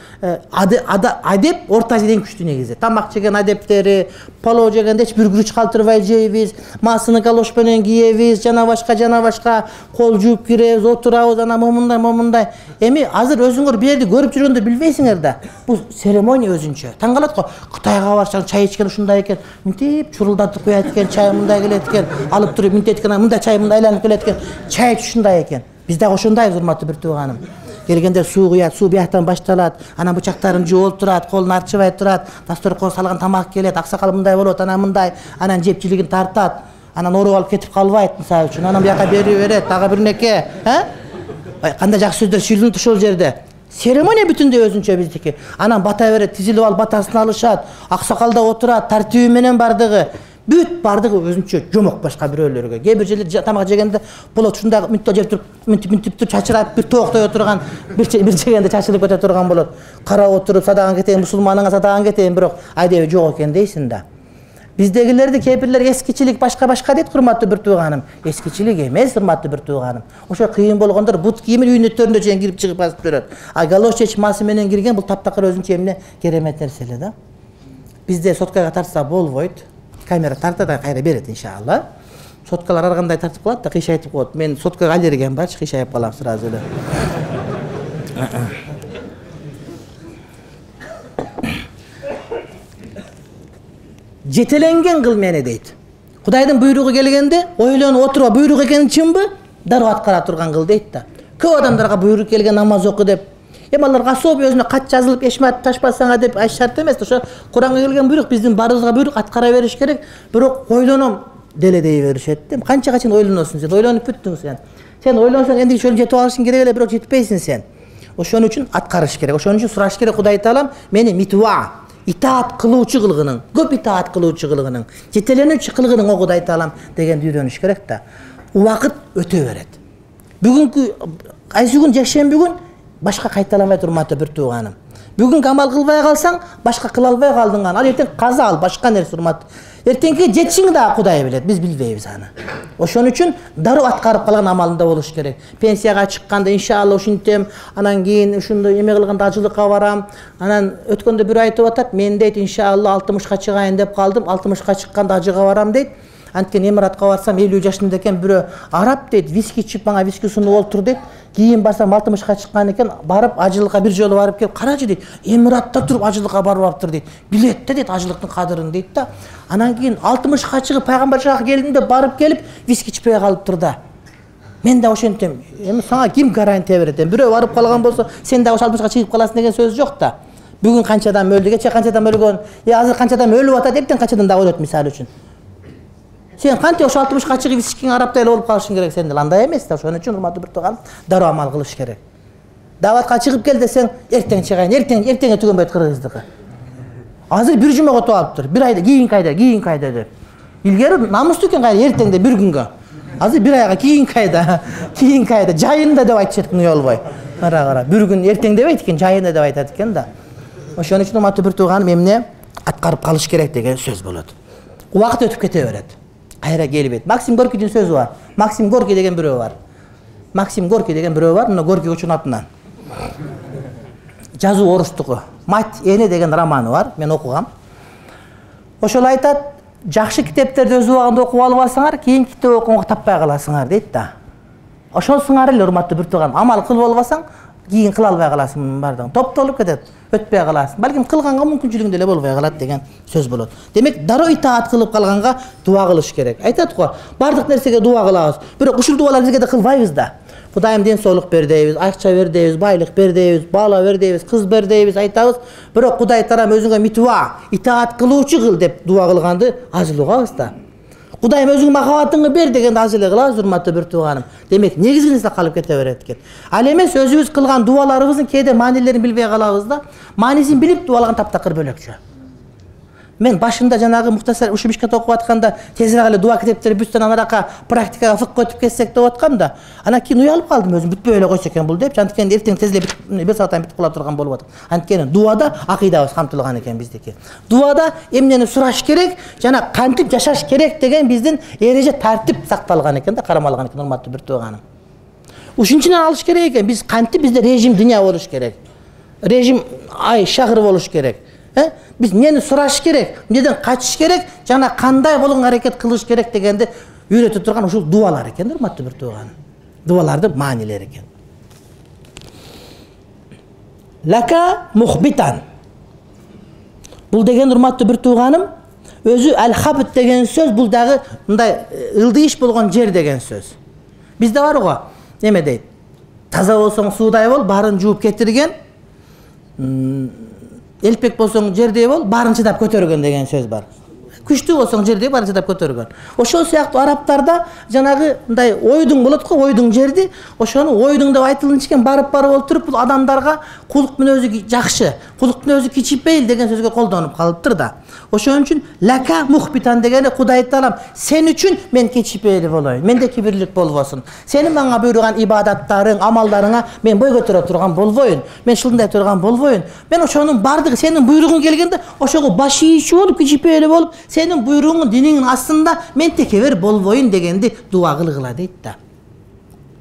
adep Orta Aziyadan күчтүү негизи. Tamak жеген adepleri, palov жегенде hiç bir gürüç kaltırбай жейбиz, masını galoş menен kiyebиz, жана башка жана башка kol жууп киребиz, oturabыз, ana момундай момундай. Эми азыр өзүңөр бир жерди көрүп жүргөндө билбейсиңер да. Бул церемония өзүнчө. Таң калат го. Кытайга барсаң чай ичкен ушундай экен, мынтип чурулдатып коет экен, чай мындай келет экен, алып туруп мынтеткен мындай чай мындай айланып келет экен, чай ушундай экен. Биз дагы ошондайбыз, урматтуу бир тууганым. Келгенде суу куят, суу бияктан башталат, анан бычактарын жууп турат, колун арчыбай турат, дасторкон салган тамак келет, аксакал мындай болот, анан мындай, анан жепчилигин тартат, анан оруп алып кетип калбайт мисалы үчүн, анан бияка берип берет, дагы бир неке, э? Кандай жакшы сөздөр сүйлөнүп ошол жерде. Церемония бүтүндөй өзүнчө биздики. Анан бата берет, тизилип алып батасын алышат, аксакалда отурат, тартиби менен бардыгы. Бүт бардыгы өзүнчө жомок башка бирөөлөргө. Кээ бир жерлерде тамак жегенде болот ушундай мынтип жеп туруп, мынтип мынтип туруп чачырап бир тооктой отурган, бир бир жегенде чачырып кете турган болот. Карап отуруп садаган кетейин, мусулманыңа садаган кетейин, бирок айдеби жок экен дейсиң да. Биздегилерди кээ бирлер эскичилик башка-башка дейт, урматтуу бир тууганым. Эскичилик эмес, урматтуу бир тууганым. Ошо кыйын болгондор бут кийимин үйнөттөрүндө чейин кирип чыгып басып берет. А галош чечмасы менен кирген бул таптакыр өзүнчө эмне керемет нерсе эле да. Бизде соткага тартса болбойт. Камера тартат да кайра берет иншалла. Соткалар ар кандай тартып калат да кыйшайтып коет. Мен соткага алергиям барчы, кыйшайып калам сразу эле. Жетеленген кыл мени дейт. Кудайдын буйругу келгенде ойлонуп отуруп буйрук экени чынбы? дароо аткара турган кыл дейт да. Көп адамдарга буйрук келген намаз оку деп. Эми аларга особый өзүнө кат жазылып эшмат ташпасаңа деп ай шарт эмес. Ошо Куранга келген буйрук, биздин баарыбызга буйрук, аткара бериш керек. Бирок ойлоном деле дей беришет. Канчага чейин ойлоносуң сен? Ойлонуп бүттүң сен. Сен ойлонсоң энди ошону жетип алышың керек эле, бирок жетпейсиң сен. Ошон үчүн аткарыш керек. Ошон үчүн сураш керек Кудай Таалам мени митуа, итаат кылуучу кылгының, көп итаат кылуучу кылгының, жетеленүүчү кылгының о Кудай Таалам дегенди үйрөнүш керек да. Убакыт өтө берет. Бүгүнкү кайсы күн жекшемби күн башка кайталамай урматтуу бир тууганым. Бүгүн амал кылбай калсаң, башка кыла албай калдың аны. Ал эртең каза ал, башка нерсе урматтуу. Эртеңки жетишиңи да Кудай билет, биз билбейбиз аны. Ошон үчүн дароо аткарып калган амалында болуш керек. Пенсияга чыкканда иншалла ушинтем, анан кийин ушундай эме кылганда ажылыкка барам. Анан өткөндө бир айтып атат, мен дейт иншалла алтымышка чыгайын деп калдым, алтымышка чыкканда ажыга барам дейт. Анткени Эмиратка барсам элүү жашында экен, бирөө араб дейт, виски ичип мага виски сунуп олтур дейт. Кийин барсам алтымышка чыккан экен, барып ажылыкка бир жолу барып келип, карачы дейт, Эмиратта туруп ажылыкка барып аптыр дейт. Билет да дейт ажылыктын кадырын дейт да. Анан кийин алтымышка чыгып пайгамбар жакка келдим деп барып келип виски ичпей калыптыр да. Мен да ошентем. Эми сага ким гарантия берет? Бирөө барып калган болсо, сен да ошо алтымышка чыгып каласың деген сөз жок да. Бүгүн канча адам өлдү, кече канча адам өлгөн, е азыр канча адам өлүп атат, эптен канчадан да өлөт мисалы үчүн. Сен кантип ошо алтымышка чыгып вискиң араптай эле болуп калышың керек сен деле, андай эмес да. Ошон үчүн урматтуу бир тууган, дароо амал кылыш керек. Даватка чыгып кел десең, эртең чыгайын, эртең эртеңе түгөнбөйт кыргыздыкы. Азыр бир жумага өтүп алыптыр. Бир айда кийин кайда, кийин кайда деп. Илгери намустуу экен кайда эртеңде бир күнгө. Азыр бир айга кийин кайда, кийин кайда, жайында деп айтышат экен уялбай. Кара кара, бир күн эртең дебейт экен, жайында деп айтат экен да. Ошон үчүн урматтуу бир тууганым, эмне аткарып калыш керек деген сөз болот. Убакыт өтүп кете берет. Кайра келбейт. Максим Горкийдин сөзү бар. Максим Горкий деген бирөө бар. Максим Горкий деген бирөө бар, мына Горкий учун атынан. Жазуу орустуку. Мать эне деген романы бар, мен окугам. Ошол айтат, жакшы китептерди өз убагында окуп албасаңар, кийин китеп окуганга таппай каласыңар дейт да. Ошонсуңар эле урматтуу бир тууган, амал кылып албасаң, кийин кыла албай каласың мунун бардыгын. Топтолуп кетет, өтпөй каласың. Балким кылганга мүмкүнчүлүгүң деле болбой калат деген сөз болот. Демек, дароо итаат кылып калганга дуа кылыш керек. Айтат го, бардык нерсеге дуа кылабыз. Бирок ушул дуаларды бизге да кылбайбыз да. Кудайым ден соолук бер дейбиз, акча бер дейбиз, байлык бер дейбиз, бала бер дейбиз, кыз бер дейбиз, айтабыз. Бирок Кудай Таалам өзүңө митуа, итаат кылуучу кыл деп дуа кылганды аз эле угабыз да. Кудайым өзүң махабатыңды бер дегенди аз эле кылабыз, урматтуу бир тууганым. Демек, негизгинесе калып кете берет экен. Ал эмес өзүбүз кылган дуаларыбыздын кээде маанилерин билбей калабыз да. Маанисин билип дуалаган таптакыр бөлөкчө. Мен башында жанагы Мухтасар ушу Мишкат окуп атканда тезирээк эле дуа китептери бүтсөн анарака практикага фыкка өтүп кетсек деп аткам да. Анан кийин уялып калдым өзүм, бүтпөй эле койсо экен бул деп. Анткени эртең тез эле бир сааттан бүтүп кала турган болуп атат. Анткени дуада акыйдабыз камтылган экен биздики. Дуада эмнени сураш керек жана кантип жашаш керек деген биздин эреже тартип сакталган экен да, карамалган экен урматтуу бир тууганым. Ушунчунан алыш керек экен, биз кантип бизде режим дүйнө болуш керек. Режим ай шагыр болуш керек. Э? Биз эмнени сураш керек, эмнеден качыш керек, жана кандай болгонго аракет кылыш керек дегенди үйрөтүп турган ушул дуалар экен, урматтуу бир тууганым. Дуалардын маанилери экен. Лака мухбитан. Бул деген урматтуу бир тууганым, өзү ал-хабит деген сөз бул дагы мындай ылдыйыш болгон жер деген сөз. Бизде бар го, эме дейт. Таза болсоң суудай бол, баарын жууп кетирген. Элпек болсоң жердей бол, баарын чыдап көтөргөн деген сөз бар. Күчтүү болсоң жердей баарын чыдап көтөргөн. Ошол сыяктуу арабтарда жанагы мындай ойдуң болот го, ойдуң жерди, ошону ойдуң деп айтылынчу экен, барып барып олтуруп бул адамдарга кулук мүнөзү жакшы, кулук мүнөзү кичипейил деген сөзгө колдонуп калыптыр да. Ошон үчүн лака мухбитан дегени Кудай Таалам сен үчүн мен кичипейли болоюн, менде кибирлик болбосун. Сенин мага буйруган ибадаттарың, амалдарыңа мен бой көтөрө турган болбоюн, мен шылындай турган болбоюн. Мен ошонун бардыгы сенин буйругуң келгенде ошого баш ийүүчү болуп, кичипейли болуп, сенин буйругуң диниңин астында мен текебер болбоюн дегенди дуа кылгыла дейт да.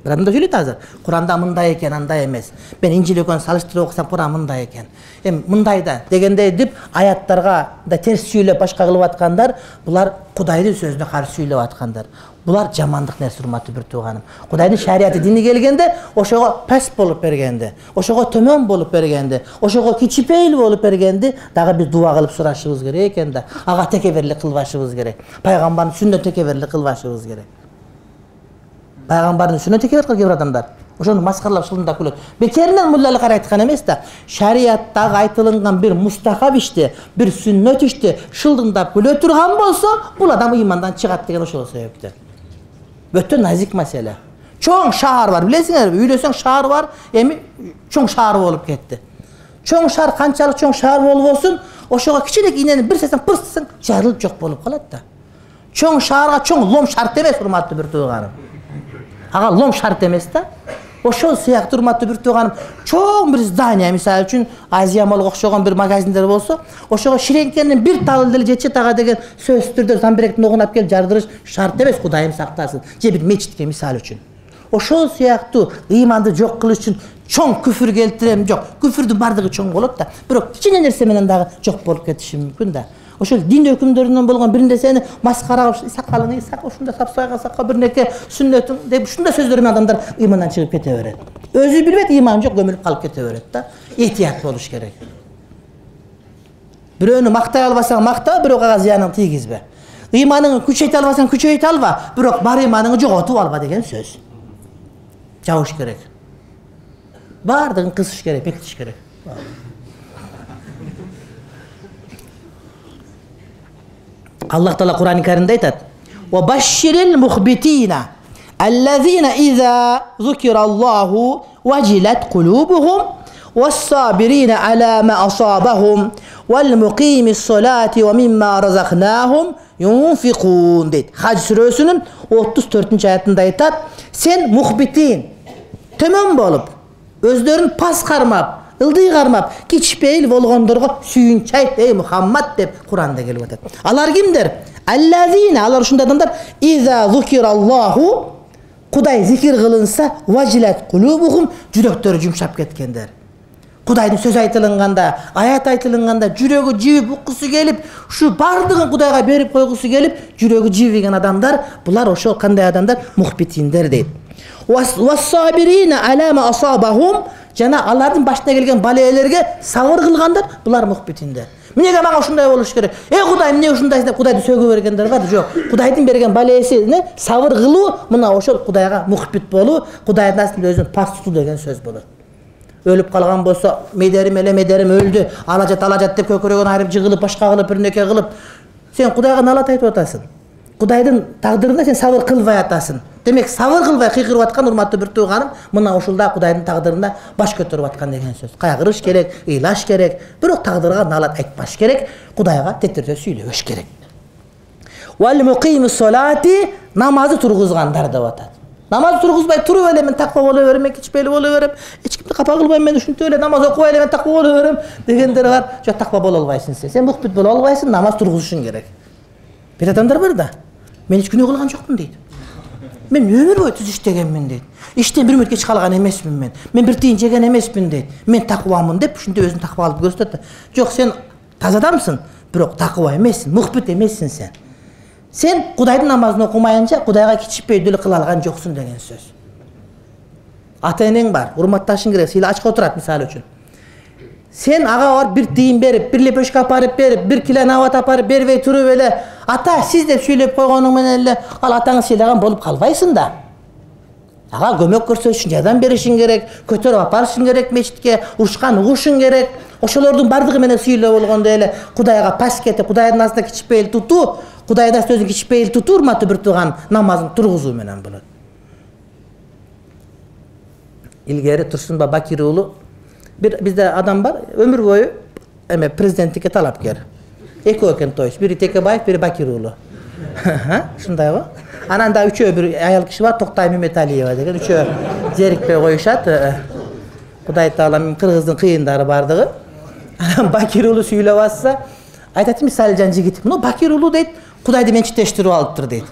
Бир адам да сүйлөйт азыр. Куранда мындай экен, андай эмес. Мен Инжил экөөнү салыштырып окусам, Куран мындай экен. Эми мындай да дегендей деп аяттарга да терс сүйлөп башка кылып аткандар, булар Кудайдын сөзүнө каршы сүйлөп аткандар. Булар жамандык нерсе, урматтуу бир тууганым. Кудайдын шарияты дини келгенде, ошого паст болуп бергенде, ошого төмөн болуп бергенде, ошого кичипейил болуп бергенде дагы биз дуа кылып сурашыбыз керек экен да. Ага текеберлик кылбашыбыз керек. Пайгамбардын сүннөт текеберлик кылбашыбыз керек. пайгамбардын сүннөтү келип аткан кээ бир адамдар. Ошону маскаралап шылындап күлөт. Бекеринен муллалык айткан эмес да. Шариаттагы айтылган бир мустахаб ишти, бир сүннөт ишти шылдыңдап күлө турган болсо, бул адам ыймандан чыгат деген ошол себептен. Өтө назик маселе. Чоң шаар бар, билесиңерби? Үйлөсөң шаар бар, эми чоң шаар болуп кетти. Чоң шаар канчалык чоң шаар болбосун, ошого кичинек инени бир сесең пырсың, жарылып жок болуп калат да. Чоң шаарга чоң лом шарт эмес, урматтуу бир тууганым. Ага лом шарт эмес да. Ошол сыяктуу урматтуу бир тууганым, чоң бир здание, мисалы үчүн Азия молго окшогон бир магазиндер болсо, ошого ширеңкенин бир талы деле жетет ага деген сөзсүз түрдө замбиректин огунап келип жардырыш шарт эмес, Кудайым сактасын. Же бир мечитке мисалы үчүн. Ошол сыяктуу ыйманды жок кылыш үчүн чоң күфүр келтирем, жок. Күфүрдүн бардыгы чоң болот да, бирок кичине нерсе менен дагы жок болуп кетиши мүмкүн да. Ошол дин өкүмдөрүнөн болгон бир нерсени маскара кылып, сакалың, сак ушунда сапсайга сакка бир неке сүннөтүң деп ушундай сөздөр менен адамдар ыймандан чыгып кете берет. Өзү билбейт, ыйманы жок, көмүлүп калып кете берет да. Этият болуш керек. Бирөөнү мактай албасаң макта, бирок ага зыянын тийгизбе. Ыйманыңды күчөйтө албасаң күчөйтө алба, бирок бар ыйманыңды жоготуп алба деген сөз. Жабыш керек. Бардыгын кысыш керек, бекитиш керек. Allah Taala Kur'an-ı Kerim'de aytat: "Ve başşiril muhbitina ellezina iza zukirallahu vacilet kulubuhum ve's-sabirina ala ma asabahum vel muqimis salati ve mimma razaknahum yunfikun" deyt. Hac surösünün otuz dördüncü ayetinde aytat: "Sen muhbitin tömön bolup, özlerin pas karmap, ылдый кармап, кичпейил болгондорго сүйүнчү айт, ey Muhammad деп Куранда келип атат. Алар кимдер? Аллазина, алар ушундай адамдар, иза зукираллаху, Кудай зикир кылынса, важилат кулубухум, жүрөктөрү жумшап кеткендер. Кудайдын сөз айтылганда, аят айтылганда жүрөгү жибип уккусу келип, ушу бардыгын Кудайга берип койгусу келип, жүрөгү жибиген адамдар, булар ошол кандай адамдар? Мухбитиндер дейт. Вас-сабирина ала ма асабахум, жана алардын башына келген балелерге сабыр кылгандар, булар мухбитиндер. Эмнеге мага ушундай болуш керек? Эй Кудай, эмне ушундай деп Кудайды сөгүп бергендер бар? Жок. Кудайдын берген балесине сабыр кылуу, мына ошол Кудайга мухбит болуу, Кудайдын астында өзүн пас тутуу деген сөз болот. Өлүп калган болсо, медерим эле медерим өлдү, алажат алажат деп көкөрөгөн айрып жыгылып, башка кылып, бир неке кылып, сен Кудайга налат айтып атасың. Кудайдын тагдырына сен сабыр кылбай атасың. Демек, сабыр кылбай кыйкырып аткан урматтуу бир тууганым, мына ушулда Кудайдын тагдырына баш көтөрүп аткан деген сөз. Кайгырыш керек, ыйлаш керек, бирок тагдырга налат айтпаш керек, Кудайга тетирдөө сүйлөбөш керек. Вал муқимус салати, намазды тургузгандар деп атат. Намаз тургузбай туруп эле мен таква боло берем, кичпейли боло берем, эч кимди капа кылбайм, мен ушинтип эле намаз окубай эле мен таква боло берем дегендер бар. Жок, таква боло албайсың сен. Сен мухбит боло албайсың, намаз тургузушуң керек. Бир адамдар бар да, мен эч күнөө кылган жокмун дейт. Мен өмүр бою түз иштегенмин дейт. Иштен бир мүнөт кеч калган эмесмин мен. Мен бир тыйын жеген эмесмин дейт. Мен таквамын деп ушинтип өзүн таква алып көрсөтөт. Жок, сен таза адамсың, бирок таква эмессиң, мухбит эмессиң сен. Сен Кудайдын намазын окумайынча Кудайга кичиппейдүү эле кыла алган жоксуң деген сөз. Ата энең бар, урматташың керек, сыйла ачка отурат мисалы үчүн. Сен ага бар бир тыйын берип, бир лепешка апарып берип, бир кило нават апарып бербей туруп эле, ата сиз деп сүйлөп койгонуң менен эле ал атаңы сыйлаган болуп калбайсың да. Ага көмөк көрсөтүшүң, жардам беришиң керек, көтөрүп апарышың керек мечитке, урушкан угушуң керек. Ошолордун бардыгы менен сыйлоо болгондо эле Кудайга пас кетип, Кудайдын астында кичпейил тутуу, Кудайдын астында өзүн кичпейил тутуу, урматтуу бир тууган, намазын тургузуу менен болот. Илгери Турсунбай Бакир уулу бир бизде адам бар, өмүр бою эме президенттикке талапкер. Экөө экен тоюш, бири Текебаев, бири Бакир уулу. Ушундайбы? Анан да үчөө бир аял киши бар, Токтай Меметалиева деген, үчөө зерикпей коюшат. Кудай таала кыргыздын кыйындары бардыгы. Анан Бакир уулу сүйлөп атса, айтат Мисалжан жигит, "Ну Бакир уулу дейт, Кудайды менчиктештирип алыптыр" дейт.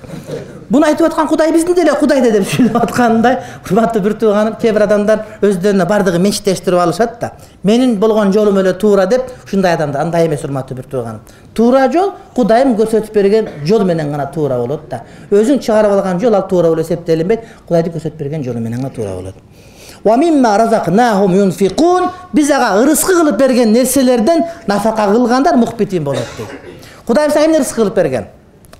Буну айтып аткан Кудай биздин деле Кудайды деп сүйлөп аткандай, урматтуу бир тууганым, кээ бир адамдар өздөрүнө бардыгы менчиктештирип алышат да. Менин болгон жолум эле туура деп, ушундай адамдар андай эмес, урматтуу бир тууганым. Туура жол Кудайым көрсөтүп берген жол менен гана туура болот да. Өзүң чыгарып алган жол ал туура болуп эсептелинбейт, Кудайды көрсөтүп берген жолу менен гана туура болот. Wa mimma razaqnahum yunfiqun, биз ага ырыскы кылып берген нерселерден нафака кылгандар мухбитин болот дейт. Кудайым сага эмне ырыскы кылып берген?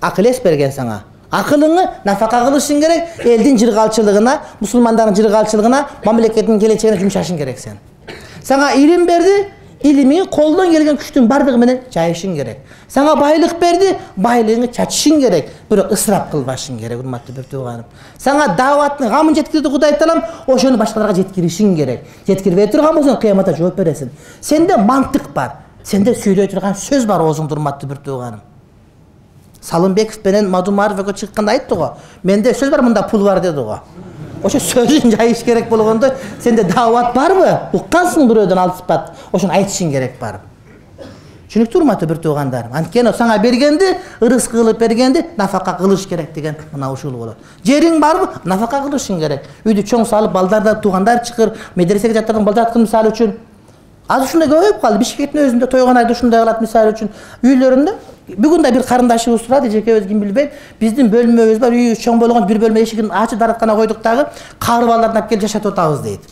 Акыл эс берген сага, Акылыңы нафака кылышың керек, элдин жыргалчылыгына, мусулмандардын жыргалчылыгына, мамлекеттин келечегине жумшашың керек сен. Сага илим берди, илимиңи колдон келген күчтүн бардыгы менен жайышың керек. Сага байлык берди, байлыгыңы чачышың керек, бирок ысырап кылбашың керек, урматтуу бир тууганым. Сага дааваттын гамын жеткирди Кудай Таалам, ошону башкаларга жеткиришиң керек. Жеткирбей турган болсоң кыяматта жооп бересиң. Сенде мантык бар, сенде сүйлөй турган сөз бар оозуңда, урматтуу бир тууганым. Салымбеков менен Мадумаров экөө чыкканда айтты го. Менде сөз бар, мында пул бар деди го. Ошо сөзүн жайыш керек болгондо сенде даават барбы? Уккансың бирөөдөн алыспат. Ошону айтышың керек барып. Түшүнүктүү урматтуу бир туугандарым. Анткени сага бергенди, ырыс кылып бергенди нафака кылыш керек деген мына ушул болот. Жериң барбы? Нафака кылышың керек. Үйдү чоң салып, балдарда туугандар чыкыр, медресеге жаттырган балдар аткан мисалы үчүн. Азыр ушундай көбөйүп калды. Бишкектин өзүндө тойгон айда ушундай кылат мисалы үчүн. Үйлөрүндө бүгүн да бир карындашыбыз турат, эжекебиз ким билбейм. Биздин бөлмөбүз бар, үйүбүз чоң болгон, бир бөлмө эшигин ачып дараткана койдук дагы, кары балдарды алып келип жашатып атабыз дейт.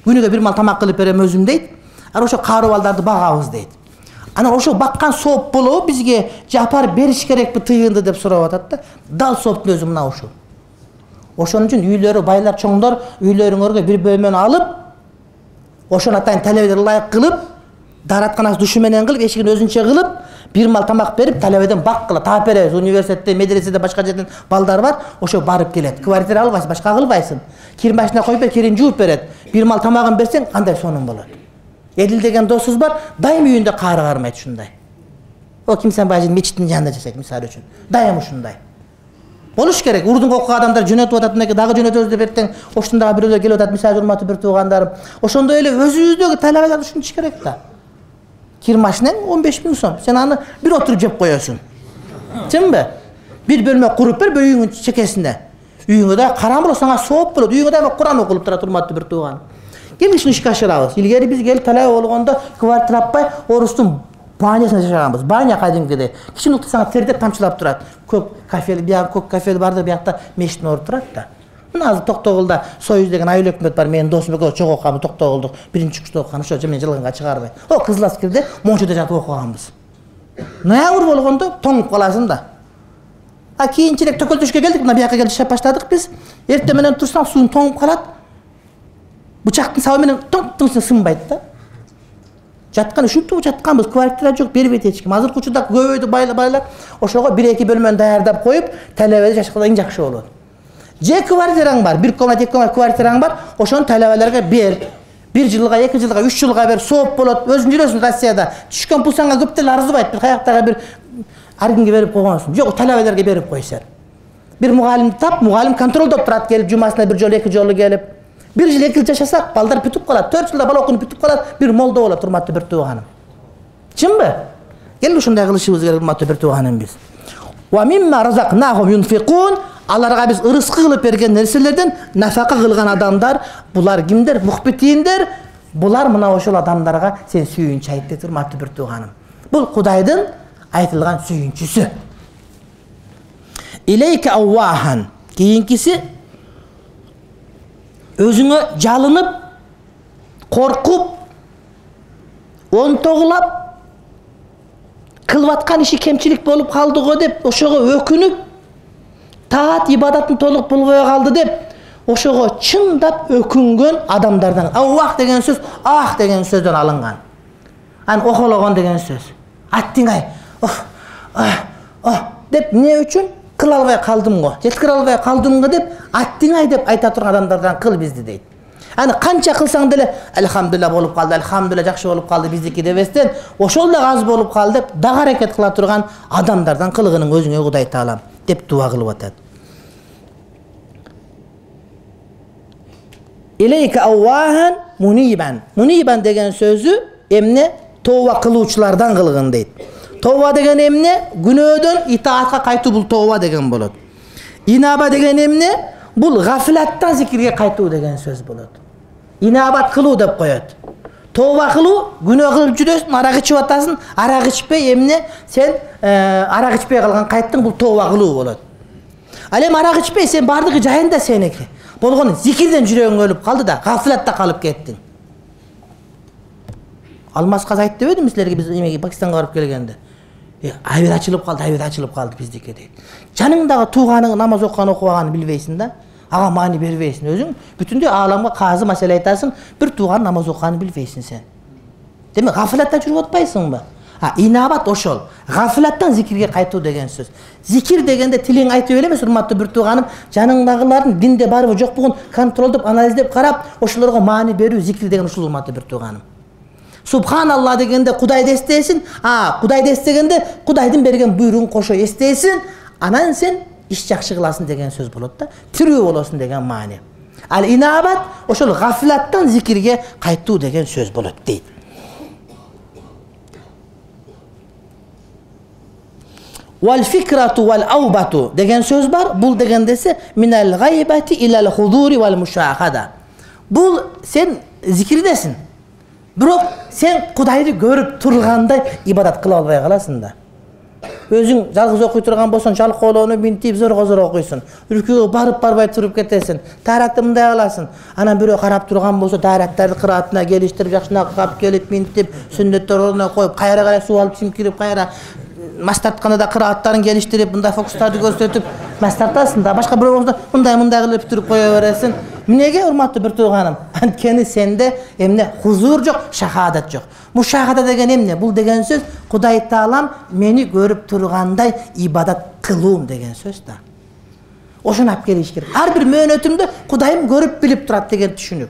Күнүгө бир мал тамак кылып берем өзүм дейт. Ана ошо кары балдарды багабыз дейт. Анан ошо баккан сооп болобу бизге жапар бериш керекпи тыйынды деп сурап атат да. Дал сооптун өзү мына ушул. Ошон үчүн үйлөрү байлар чоңдор үйлөрүңөргө бир бөлмөнү алып, ошону атайын талебеден ылайык кылып, даратканасы душу менен кылып, эшигин өзүнчө кылып, бир мал тамак берип, талебеден бак кылып, таап беребиз. Университетте, медреседе, башка жерден балдар бар, ошо барып келет. Квартира албайсың, башка кылбайсың. Кир машина коюп бер, кирин жууп берет. Бир мал тамагын берсең, кандай сонун болот. Эдил деген досубуз бар, дайым үйүндө кары кармайт ушундай. О Кимсан бажын мечиттин жанында жашайт мисалы үчүн. Дайым ушундай. Болуш керек. Урдун окуган адамдар жөнөтүп атат, мынеке дагы жөнөтөбүз деп эртең ошондагы бирөөлөр келип атат, мисалы урматтуу бир туугандарым. Ошондой эле өзүбүздөгү талабалар ушунчу керек да. Кир машинаң он беш миң сом. Сен аны бир отуруп жеп коесуң. Чынбы? Бир бөлмө куруп бер үйүңүн чекесинде. Үйүңө да караңгы сага сооп болот. Үйүңө да Куран окулуп турат, урматтуу бир тууган. Ким ишин ишке ашырабыз? Илгери биз келип талай болгондо квартира таппай орустун банясында жашаганбыз. Баня кадимкидей. Кичинекей сага тердеп тамчылап турат. Көк кафе, бияк көк кафе барды, биякта мештин орду турат да. Мына азыр Токтогулда Союз деген айыл өкмөт бар. Менин досум экөө чогуу окуганбыз Токтогулдук биринчи курста окуган, ошо мен жылганга чыгарбай. О Кызыл Аскерде Мончода жатып окуганбыз. Ноябрь болгондо тоңуп каласың да. А кийинчерээк Төкөлтөшкө келдик, мына бияка келип жашап баштадык биз. Эртең менен турсаң суун тоңуп калат. Бычактын сабы менен тоң-тоң сынбайт да. Жаткан ушинтип жатканбыз, квартира жок, бербейт эч ким. Азыркы учурда көбөйдү байлар, ошого бир эки бөлмөнү даярдап коюп, талебеде жашаганда эң жакшы болот. Же квартираң бар, бир комнат, эки комнат квартираң бар, ошону талебелерге бер. Бир жылга, эки жылга, үч жылга бер, сооп болот. Өзүң жүрөсүң Россияда. Түшкөн пул сага көп деле арзыбайт. Бир каяктагы бир аргинге берип койгонсуң. Жок, талебелерге берип кой сен. Бир мугалим тап, мугалим контролдоп турат, келип жумасына бир жолу, эки жолу келип. Бир жыл, эки жыл жашасак, балдар бүтүп калат. төрт жылда бала окуп бүтүп калат, бир молдо болот, урматтуу бир тууганым. Чынбы? Кел ушундай кылышыбыз керек, урматтуу бир тууганым биз. Ва мимма разакнахум юнфикун. Аларга биз ырыскы кылып берген нерселерден нафака кылган адамдар, булар кимдер? Мухбитиндер. Булар мына ошол адамдарга сен сүйүнчү айт дейт, урматтуу бир тууганым. Бул Кудайдын айтылган сүйүнчүсү. Илейке аввахан. Кийинкиси өзүңө жалынып, коркуп, онтогулап, кылып аткан иши кемчилик болуп калды го деп, ошого өкүнүп, таат ибадатын толук болбой калды деп, ошого чындап өкүнгөн адамдардан. Аввах деген сөз ах деген сөздөн алынган. Ан охологон деген сөз. Аттиңай, оф, ах, деп эмне үчүн? Кыла албай калдым го, жеткире албай калдым го деп, аттиңай деп айта турган адамдардан кыл бизди дейт. Аны канча кылсаң деле, алхамдулилла болуп калды, алхамдулилла жакшы болуп калды биздики дебестен, ошол да аз болуп калды деп, дагы аракет кыла турган адамдардан кылгының өзүңө Кудай Таалам деп дуа кылып атат. Илейка аввахан мунибан. Мунибан деген сөзү эмне? Тооба кылуучулардан кылгын дейт. Тооба деген эмне? Күнөөдөн итаатка кайтуу, бул тооба деген болот. Инаба деген эмне? Бул гафлаттан зикирге кайтуу деген сөз болот. Инабат кылуу деп коет. Тооба кылуу, күнөө кылып жүрөсүң, арак ичип атасың, арак ичпей эмне? Сен арак ичпей калган кайттың, бул тооба кылуу болот. Ал эми арак ичпей сен бардыгы жайында сеники. Болгону зикирден жүрөгүң өлүп калды да, гафлатта калып кеттиң. Алмаз Каз айтып дебедимби силерге биз эмеге Пакистанга барып келгенде? Айбир ачылып калды, айбир ачылып калды биздики дейт. Жаныңдагы тууганың намаз окуган окубаганын билбейсиң да, ага маани бербейсиң. Өзүң бүтүндөй ааламга казы маселе айтасың, бир тууган намаз окуганын билбейсиң сен. Демек гафлатта жүрүп атпайсыңбы? А, инабат ошол. Гафлаттан зикирге кайтуу деген сөз. Зикир дегенде тилиң айтып эле эмес, урматтуу бир тууганым, жаныңдагылардын динде барбы жокпугун контролдоп, анализдеп карап, ошолорго маани берүү зикир деген ушул, урматтуу бир тууганым. Субханалла дегенде Кудайды эстейсиң, а, Кудайды эстегенде Кудайдын берген буйругун кошо эстейсиң, анан сен иш жакшы кыласың деген сөз болот да. Тирүү болосуң деген маани. Ал инабат ошол гафлаттан зикирге кайтуу деген сөз болот дейт. Вал фикрату вал аубату деген сөз бар. Бул дегендесе минал гайбати илал худури вал мушахада. Бул сен зикирдесиң. Бирок сен Кудайды көрүп тургандай ибадат кыла албай каласың да. Өзүң жалгыз окуй турган болсоң, жалкоолоону минтип зорго-зор окуйсуң. Үркүгө барып барбай туруп кетесиң. Тааракты мындай кыласың. Анан бирөө карап турган болсо, таарактарды кыраатына келиштирип, жакшына кап келип минтип, сүннөттөр ордуна коюп, кайра кайра суу алып чимкирип, кайра мастартканада кырааттарын келиштирип, мындай фокустарды көрсөтүп, мастартасың да. Башка бирөө болсо, мындай-мындай кылып туруп кое бересиң. Эмнеге, урматтуу бир тууганым? Анткени сенде эмне хузур жок, шахадат жок. Мушахада деген эмне? Бул деген сөз Кудай Таалам мени көрүп тургандай ибадат кылуум деген сөз да. Ошону алып келиш керек. Ар бир мөөнөтүмдө Кудайым көрүп билип турат деген түшүнүк.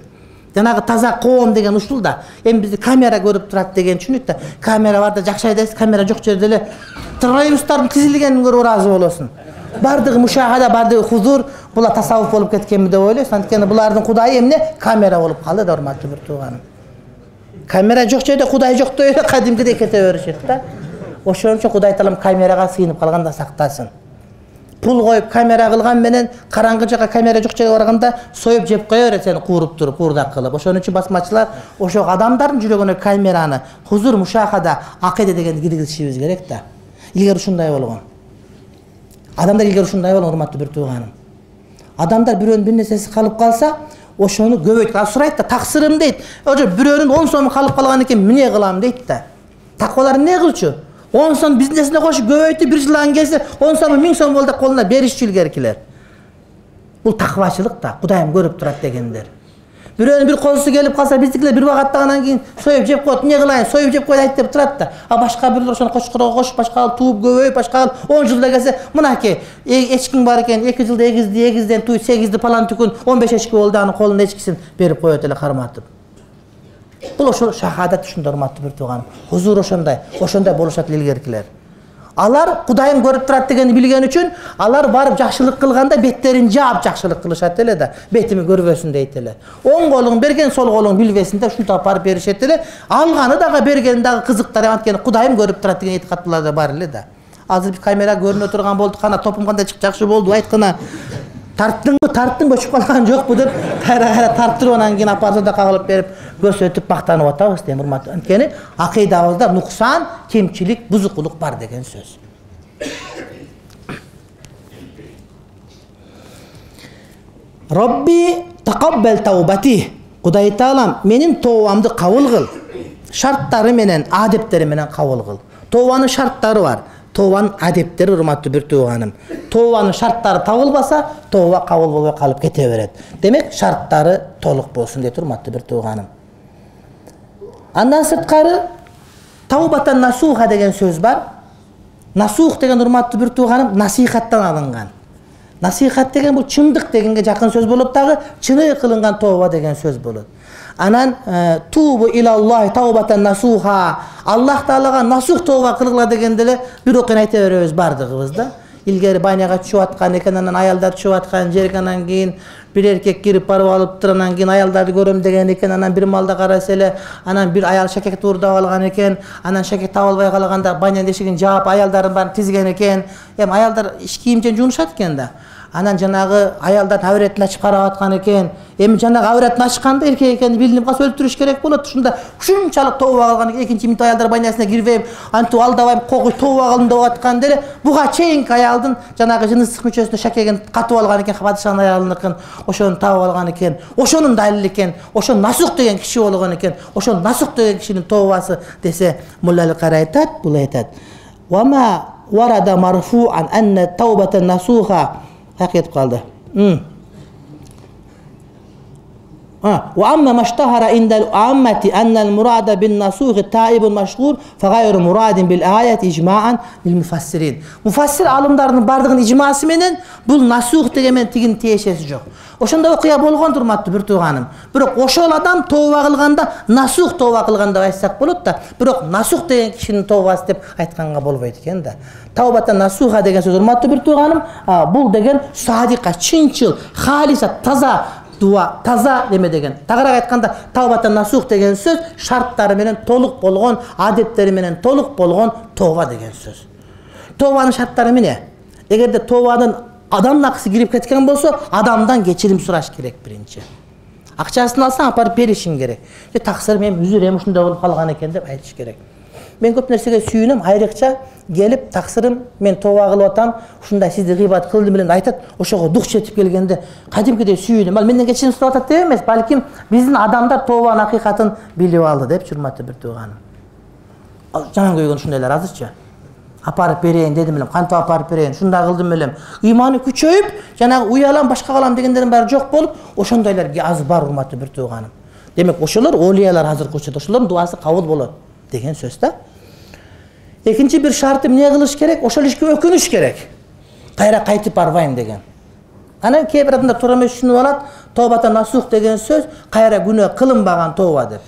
Жанагы таза коом деген ушул да. Эми бизди камера көрүп турат деген түшүнүк да. Камера бар да жакшы айдайсың, камера жок жерде эле троллейбустардын тизилгенин көрүп ыраазы болосуң. Бардыгы мушахада, бардыгы хузур, була тасаввуф болуп кеткенби деп ойлойсуң. Анткени булардын Кудайы эмне? Камера болуп калды да, урматтуу бир тууганым. Камера жок жерде Кудай жок деп эле кадимкидей кете беришет да. Ошон үчүн Кудай Таалам камерага сыйынып калганда сактасын. Пул коюп камера кылган менен караңгы жака камера жок жерге барганда союп жеп кое берет сени кууруп туруп, куурдак кылып. Ошон үчүн басмачылар ошо адамдардын жүрөгүнө камераны, хузур, мушахада, акыйда дегенди киргизишибиз керек да. Илгери ушундай болгон. Адамдар илгери ушундай болгон, урматтуу бир тууганым. Адамдар бирөөнүн бир нерсеси калып калса, ошону көбөйтүп сурайт да, таксырым дейт. Ошо бирөөнүн он сом калып калган экен, эмне кылам дейт да. Таквалар эмне кылчу? он сом бизнесине кошуп көбөйтүп, бир жылдан келсе он сом миң сом болду колуна беришчү илгеркилер. Бул таквачылык да, Кудайым көрүп турат дегендер. Бирөөнүн бир козусу келип калса, биздикилер бир убакыттаган кийин союп жеп коет, эмне кылайын, союп жеп коет айт деп турат да. А башка бирлер ошону кочкорго кошуп, башка тууп көбөйүп, башка он жылда келсе, мынакей эчкиң бар экен, эки жылда эгизди, эгизден туй сегизди палан түкүн, он беш эчки болду, анын колунда эчкисин берип коет эле карматып. Бул ошол шахадат ушундай, урматтуу бир тууганым. Хузур ошондой, ошондой болушат илгеркилер. Алар Кудайым көрүп турат дегенди билген үчүн, алар барып жакшылык кылганда беттерин жаап жакшылык кылышат эле да. Бетими көрбөсүн дейт эле. Оң колуң берген, сол колуң билбесин деп ушинтип барып беришет эле. Алганы дагы берген дагы кызыктар, анткени Кудайым көрүп турат деген этикаттуулар да бар эле да. Азыр камера көрүнө турган болду, кана топум кандай чыгып жакшы болду, айткана. Тарттыңбы, тарттың өчүп калган жокпу деп кайра-кайра тарттырып, анан кийин апарса да кагылып берип, көрсөтүп мактанып атабыз дейм, урматтуу. Анткени акыйдабызда нуксан, кемчилик, бузукулук бар деген сөз. Робби тaqabbal таубати. Кудай Таалам менин тообамды кабыл кыл. Шарттары менен, адептери менен кабыл кыл. Тообанын шарттары бар. Тообанын адептери, урматтуу бир тууганым. Тообанын шарттары табылбаса, тооба кабыл болбой калып кете берет. Демек, шарттары толук болсун дейт, урматтуу бир тууганым. Андан сырткары таубатан насуха деген сөз бар. Насух деген, урматтуу бир тууганым, насихаттан алынган. Насихат деген бул чындык дегенге жакын сөз болуп дагы, чыны кылынган тооба деген сөз болот. Анан тубу илаллахи таубатан насуха. Аллах Таалага насух тооба кылгыла дегенде эле бир окуяны айта беребиз бардыгыбыз да. Илгери байнага түшүп аткан экен, анан аялдар түшүп аткан жерге, анан кийин бир эркек кирип барып алыптыр, анан кийин аялдарды көрөм деген экен, анан бир малда караса эле, анан бир аял шакекти уурдап алган экен, анан шакек таба албай калганда банянын эшигин жаап аялдарын баарын тизген экен. Эми аялдар иш кийимчен жуунушат экен да. Анан жанагы аялдардын авретин ачып карап аткан экен. Эми жанагы авретин ачканда эркек экени билинип калса өлтүрүш керек болот. Ушунда ушунчалык тооба кылган экен, экинчи минут аялдар банясына кирбейм, антип алдабайм, когуй тооба кылдым деп атканда эле буга чейинки аялдын жанагы жыныстык мүчөсүнө шакегин катып алган экен, падышанын аялыныкын, ошону табып алган экен. Ошонун далили экен. Ошон насух деген киши болгон экен. Ошон насух деген кишинин тообасы десе, Мулла Аль-Кари айтат, бул айтат. Wa ma warada marfu'an anna tawbata nasuha haqiyat qaldı. وأما ما اشتهر عند العامة أن المراد بالنسوخ التائب المشهور فغير مراد بالآية إجماعا للمفسرين. Mufassir alımlarının bardığın icması menen bu nasuh degen tigin tiyешеси жок. Ошондо окуя болгон турматтуу бир тууганым. Бирок ошол адам тооба кылганда насух тооба кылган деп айтсак болот да, бирок насух деген кишинин тообасы деп айтканга болбойт экен да. Таубата насуха деген сөз урматтуу бир тууганым, бул деген садика, чынчыл, халиса, таза дуа, таза неме деген. Тагыраак айтканда таубата насух деген сөз шарттары менен толук болгон, адептери менен толук болгон тооба деген сөз. Тообанын шарттары эмне? Эгерде тообанын адам акысы кирип кеткен болсо, адамдан кечирим сураш керек биринчи. Акчасын алсаң апарып беришиң керек. Же таксыр мен үзүрөм ушундай болуп калган экен деп айтыш керек. Мен көп нерсеге сүйүнөм, айрыкча келип таксырым мен тооба кылып атам, ушундай сизди гыйбат кылдым эле айтат, ошого дук жетип келгенде кадимкидей сүйүнөм. Ал менден кечирим сурап атат деп эмес, балким биздин адамдар тообанын акыйкатын билип алды деп урматтуу бир тууганым. Жаман көйгөн ушундайлар азырчы. Апарып берейин дедим элем, кантип апарып берейин, ушундай кылдым элем. Ыйманы күчөйүп, жанагы уялам, башка калам дегендердин баары жок болуп, ошондойлор аз бар урматтуу бир тууганым. Демек, ошолор олиялар азыркы учурда, ошолордун дуасы кабыл болот деген сөз да. Экинчи бир шарты эмне кылыш керек? Ошол ишке өкүнүш керек. Кайра кайтып барбайм деген. Анан кээ бир адамдар туура эмес түшүнүп алат, тообата насух деген сөз кайра күнөө кылынбаган тооба деп.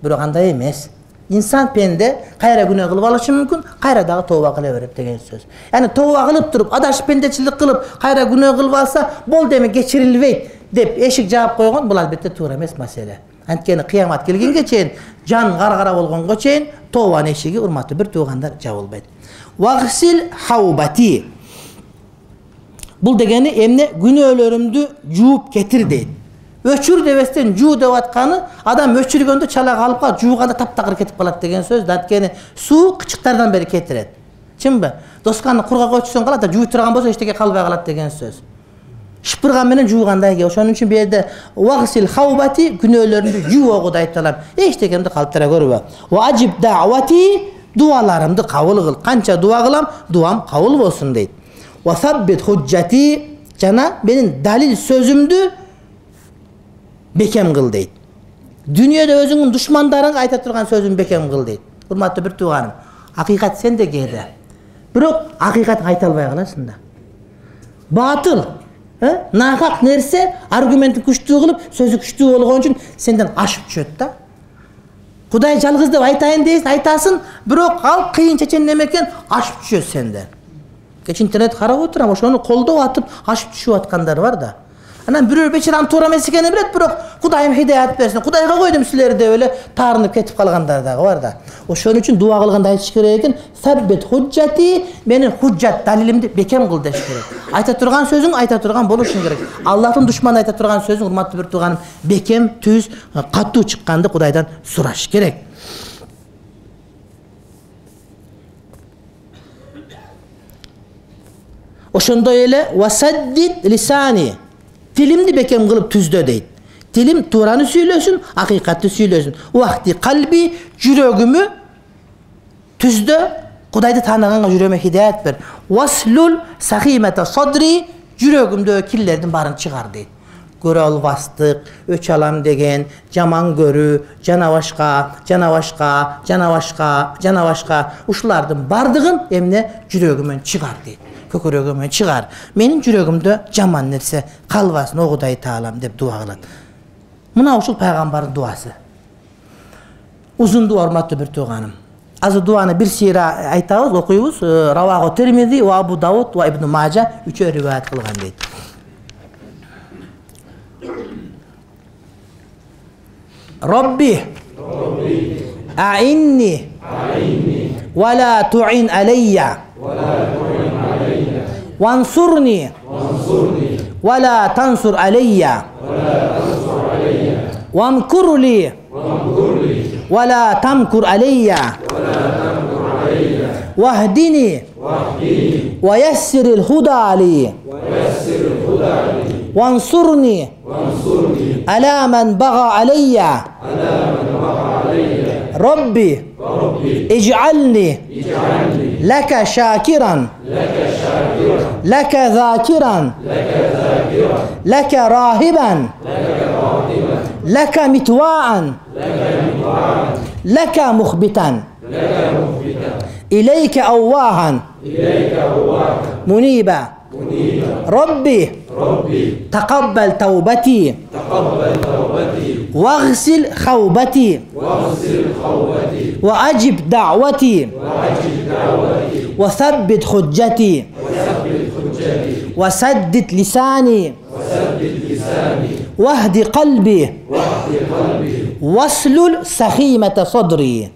Бирок андай эмес. Инсан пенде кайра күнөө кылып алышы мүмкүн, кайра дагы тооба кыла берет деген сөз. Яни тооба кылып туруп, адашып пендечилик кылып, кайра күнөө кылып алса, болду эми кечирилбейт деп эшик жаап койгон, бул албетте туура эмес маселе. Анткени кыямат келгенге чейин, жан гаргара болгонго чейин тообанын эшиги урматтуу бир туугандар жабылбайт. Вагсил хаубати. Бул дегени эмне? Күнөөлөрүмдү жууп кетир дейт. Өчүр дебестен жуу деп атканы, адам өчүргөндө чала калып калат, жууганда таптакыр кетип калат деген сөз. Анткени суу кычыктардан бери кетирет. Чынбы? Досканы кургак өчсөң калат, жууй турган болсо эчтеке калбай калат деген сөз. Шыпырган менен жуугандай ке. Ошон үчүн бу жерде вагсил хаубати күнөөлөрүмдү жуогу да айтылам. Эчтекемди калтыра көрбө. Ва ажиб даъвати дуаларымды кабыл кыл. Канча дуа кылам, дуам кабыл болсун дейт. Ва саббит худжати жана менин далил сөзүмдү бекем кыл дейт. Дүйнөдө өзүңдүн душмандарыңга айта турган сөзүн бекем кыл дейт. Урматтуу бир тууганым, акыйкат сенде кээде. Бирок акыйкат айта албай каласың да. Батыл, нахак нерсе аргументин күчтүү кылып, сөзү күчтүү болгон үчүн сенден ашып түшөт да. Кудай жалгыз деп айтайын дейсиң, айтасың, бирок ал кыйын чечен неме экен, ашып түшөт сенден. Кеч интернет карап отурам, ошону колдоп атып, ашып түшүп аткандар бар да. Анан бирөө бечирам туура эмес экенин билет, бирок Кудайым хидаят берсин. Кудайга койдум силерди деп эле таарынып кетип калгандар дагы бар да. Ошон үчүн дуа кылганда айтыш керек экен, саббит худжати, менин худжат далилимди бекем кыл деш керек. Айта турган сөзүң айта турган болушуң керек. Аллахтын душманы айта турган сөзүң, урматтуу бир тууганым, бекем, түз, катуу чыкканды Кудайдан сураш керек. Ошондой эле васаддид лисани, тилимди бекем кылып түздө дейт. Тилим туураны сүйлөсүн, акыйкатты сүйлөсүн. Уакти калби, жүрөгүмү түздө, Кудайды тааныганга жүрөгүмө хидаят бер. Васлул сахимата садри, жүрөгүмдө кирлердин баарын чыгар дейт. Көрө албастык, өч алам деген, жаман көрүү, жана башка, жана башка, жана башка, жана башка, ушулардын бардыгын эмне жүрөгүмөн чыгар дейт. Көкөрөгүмөн чыгар. Менин жүрөгүмдө жаман нерсе калбасын, о Кудай таалам деп дуа кылат. Мына ушул пайгамбардын дуасы. Узун дуа, урматтуу бир тууганым. Азыр дуаны бир сыйра айтабыз, окуйбуз. Раваху Тирмизи ва Абу Дауд ва Ибн Мажа үчөө риваят кылган дейт. Робби аинни ва ла туин алейя вансурни ва ла тансур алейя вамкур ли ва ла тамкур алейя вахдини ва яссирил худа ли وانصرني على من بغى علي Robbi ij'alni laka shakiran laka zakiran laka rahiban laka mitwa'an laka mukhbitan ilayka awwahan muniba Rabbi taqabbal tawbati waghsil khawbati wa ajib da'wati wa thabbit hujjati wa saddid lisani wahdi qalbi waslul sakhimata sadri.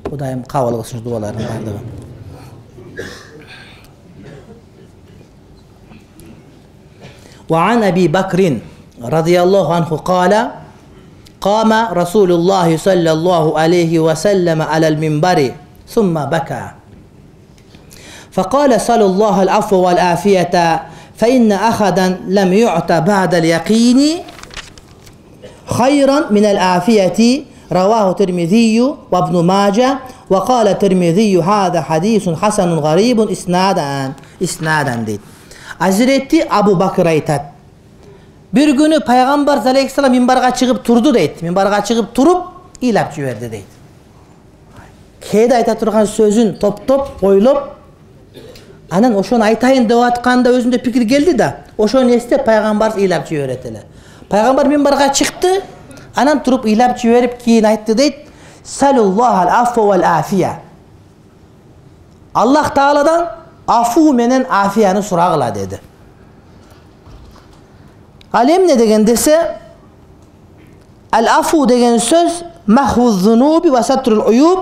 Kudayım qabul qilsin duolarni bardigi. وعن أبي بكر رضي الله عنه قال قام رسول الله صلى الله عليه وسلم على المنبر ثم بكى فقال صلى الله العفو والعافية فإن أحدا لم يعط بعد اليقين خيرا من العافية رواه الترمذي وابن ماجه وقال الترمذي هذا حديث حسن غريب إسنادا إسنادا دي. Hazreti Abu Bakr aytат. Bir günü Peygamber aleyhisselam minbarga çıkıp turdu deydi. Minbarga çıkıp turup ilap jibirdi deydi. Keyde ayta turgan sözün top top koyulup anan oşonu aytayın dep atkanda özünde pikir geldi da oşonu esте Peygamber ilap jibirdi. Peygamber minbarga çıktı. Anan turup ilap jiberip keyin aytты deydi. Sallallahu al-afwa vel afiya. Allah Taala'dan afu menen afiyani suragıla dedi. Alem ne degen dese al afu degen söz mahvuz zunubi ve satrul uyub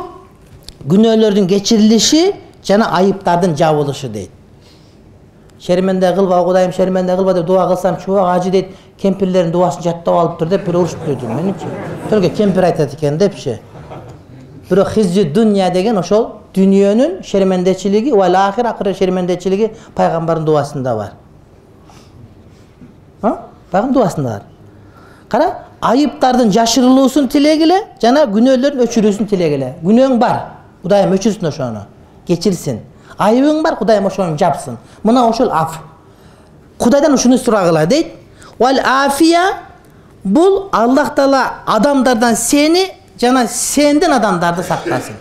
günahlardan geçirilişi jana ayıplardan jabılışı deydi. Şermende kılba Kudayım şermende kılba dep dua kılsam çoğu acı deydi. Kempirlerin duasını jattap alıp tur dep bir uruşup duydu menimçe. Tölge kempir aytat eken dep şey. Biro hizci dünya degen oşol dünyanın şermendeçiligi ve ahir akıra şermendeçiligi Peygamberin duasında var. Ha? Peygamberin duasında var. Kara ayıplardan jaşırılısın tilegile, jana günahların öçürüsün tilegile. Günahın var, Kudayım öçürsün oşonu, geçirsin. Ayıbın var, Kudayım oşonu japsın. Muna oşol af. Kudaydan oşunu suragıla deydi. Vel afiya bul Allah Taala adamlardan seni, jana senden adamlardı saklasın.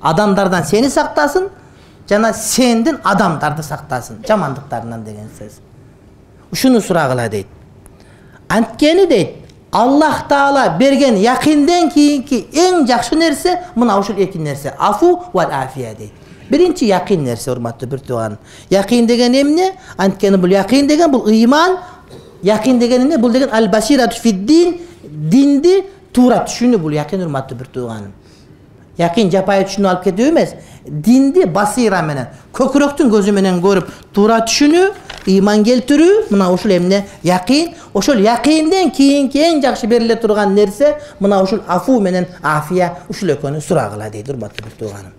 Adamlardan seni saktasın, jana senden adamlardı saktasın. Jamanlıklarından degen söz. Uşunu suragıla deydi. Antkeni deydi. Allah Taala bergen yakinden kiyinki en jakşı nerse muna uşul iki nerse. Afu vel afiya deydi. Birinci yakin nerse hurmatlı bir tuğan. Yakin degen emne? Antkeni bul yakin degen bul iman. Yakin degen ne? Bul degen al basiratu fid din. Dindi turat. Şunu bul yakin hurmatlı bir tuğanım. Yakin japayı düşünü alıp ketiyor emez. Dindi basira menen. Köküröktün gözü menen görüp turat düşünü, iman keltürü, mına uşul emne yakin. Oşul yakinden kiyinki en jakşı berile turgan nerse mına uşul afu menen afiya uşul ekönü suragıla deydi hurmatlı bir tuğanım.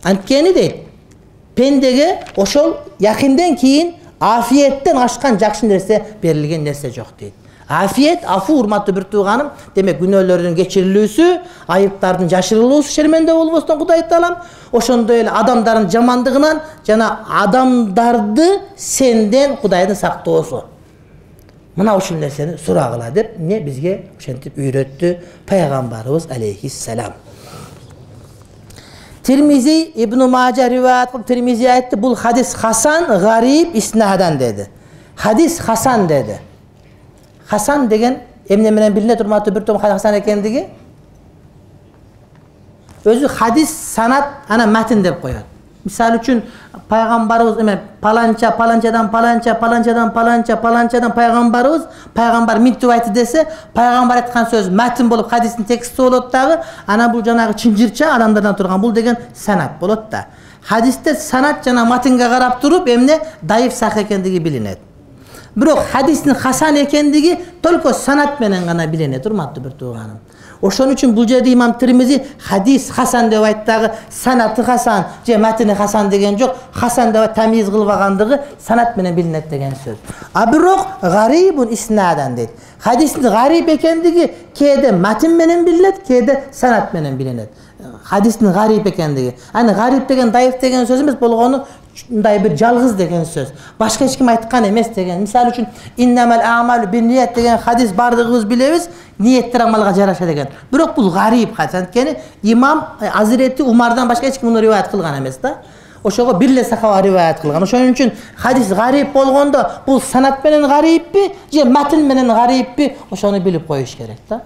Antkeni deydi. Pendege oşol yakinden kiyin afiyetten aşkan jakşı nerse berilgen nerse jok deydi. Afiyet, afu hurmatlı bir tuğanım. Demek günahların geçirilüsü, ayıplardan jaşırılısı şermende olmasından Kuday Taalam. Oşonda öyle adamların jamandığından jana adamdardı senden Kudaydan saktoosu. Mına oşul nerseni suragıla dep ne bizge oşentip üyretti Peygamberimiz aleyhisselam. Tirmizi İbn Mace rivayet kılıp Tirmizi aytti bul hadis hasan garib isnadan dedi. Hadis hasan dedi. Hasan degen emne menen biline turmatı bir tom Hasan ekendigi. Özü hadis sanat ana metin dep koyat. Misal üçün Peygamberimiz emen palanca palancadan palanca palancadan palanca palancadan Peygamberimiz Peygamber mintu aytı dese Peygamber aytkan söz metin bolup hadisin teksti bolot dagı ana bul janagı çınjırça adamlardan turgan bul degen sanat bolot da. Hadiste sanat jana matinge karap turup emne dayıf sak ekendigi bilinet. Бирок хадистин хасан экендиги только санат менен гана билинет, урматтуу бир тууганым. Ошон үчүн бул жерде имам Тирмизи хадис хасан деп айтты, санаты хасан же матини хасан деген жок, хасан деп тамиз кылбагандыгы санат менен билинет деген сөз. А бирок гарибун иснадан дейт. Хадистин гариб экендиги кээде матин менен билинет, кээде санат менен билинет. Хадистин гариб экендиги. Аны гариб деген даиф деген сөз эмес, болгону мындай бир жалгыз деген сөз. Башка эч ким айткан эмес деген. Мисалы үчүн иннамал аъмалу бинният деген хадис бардыгыбыз билебиз, ниеттер амалга жараша деген. Бирок бул гариб хадис. Анткени имам Азирети Умардан башка эч ким муну риваят кылган эмес да. Ошого бир эле сахаба риваят кылган. Ошон үчүн хадис гариб болгондо бул санат менен гарибпи же матин менен гарибпи, ошону билип коюш керек да.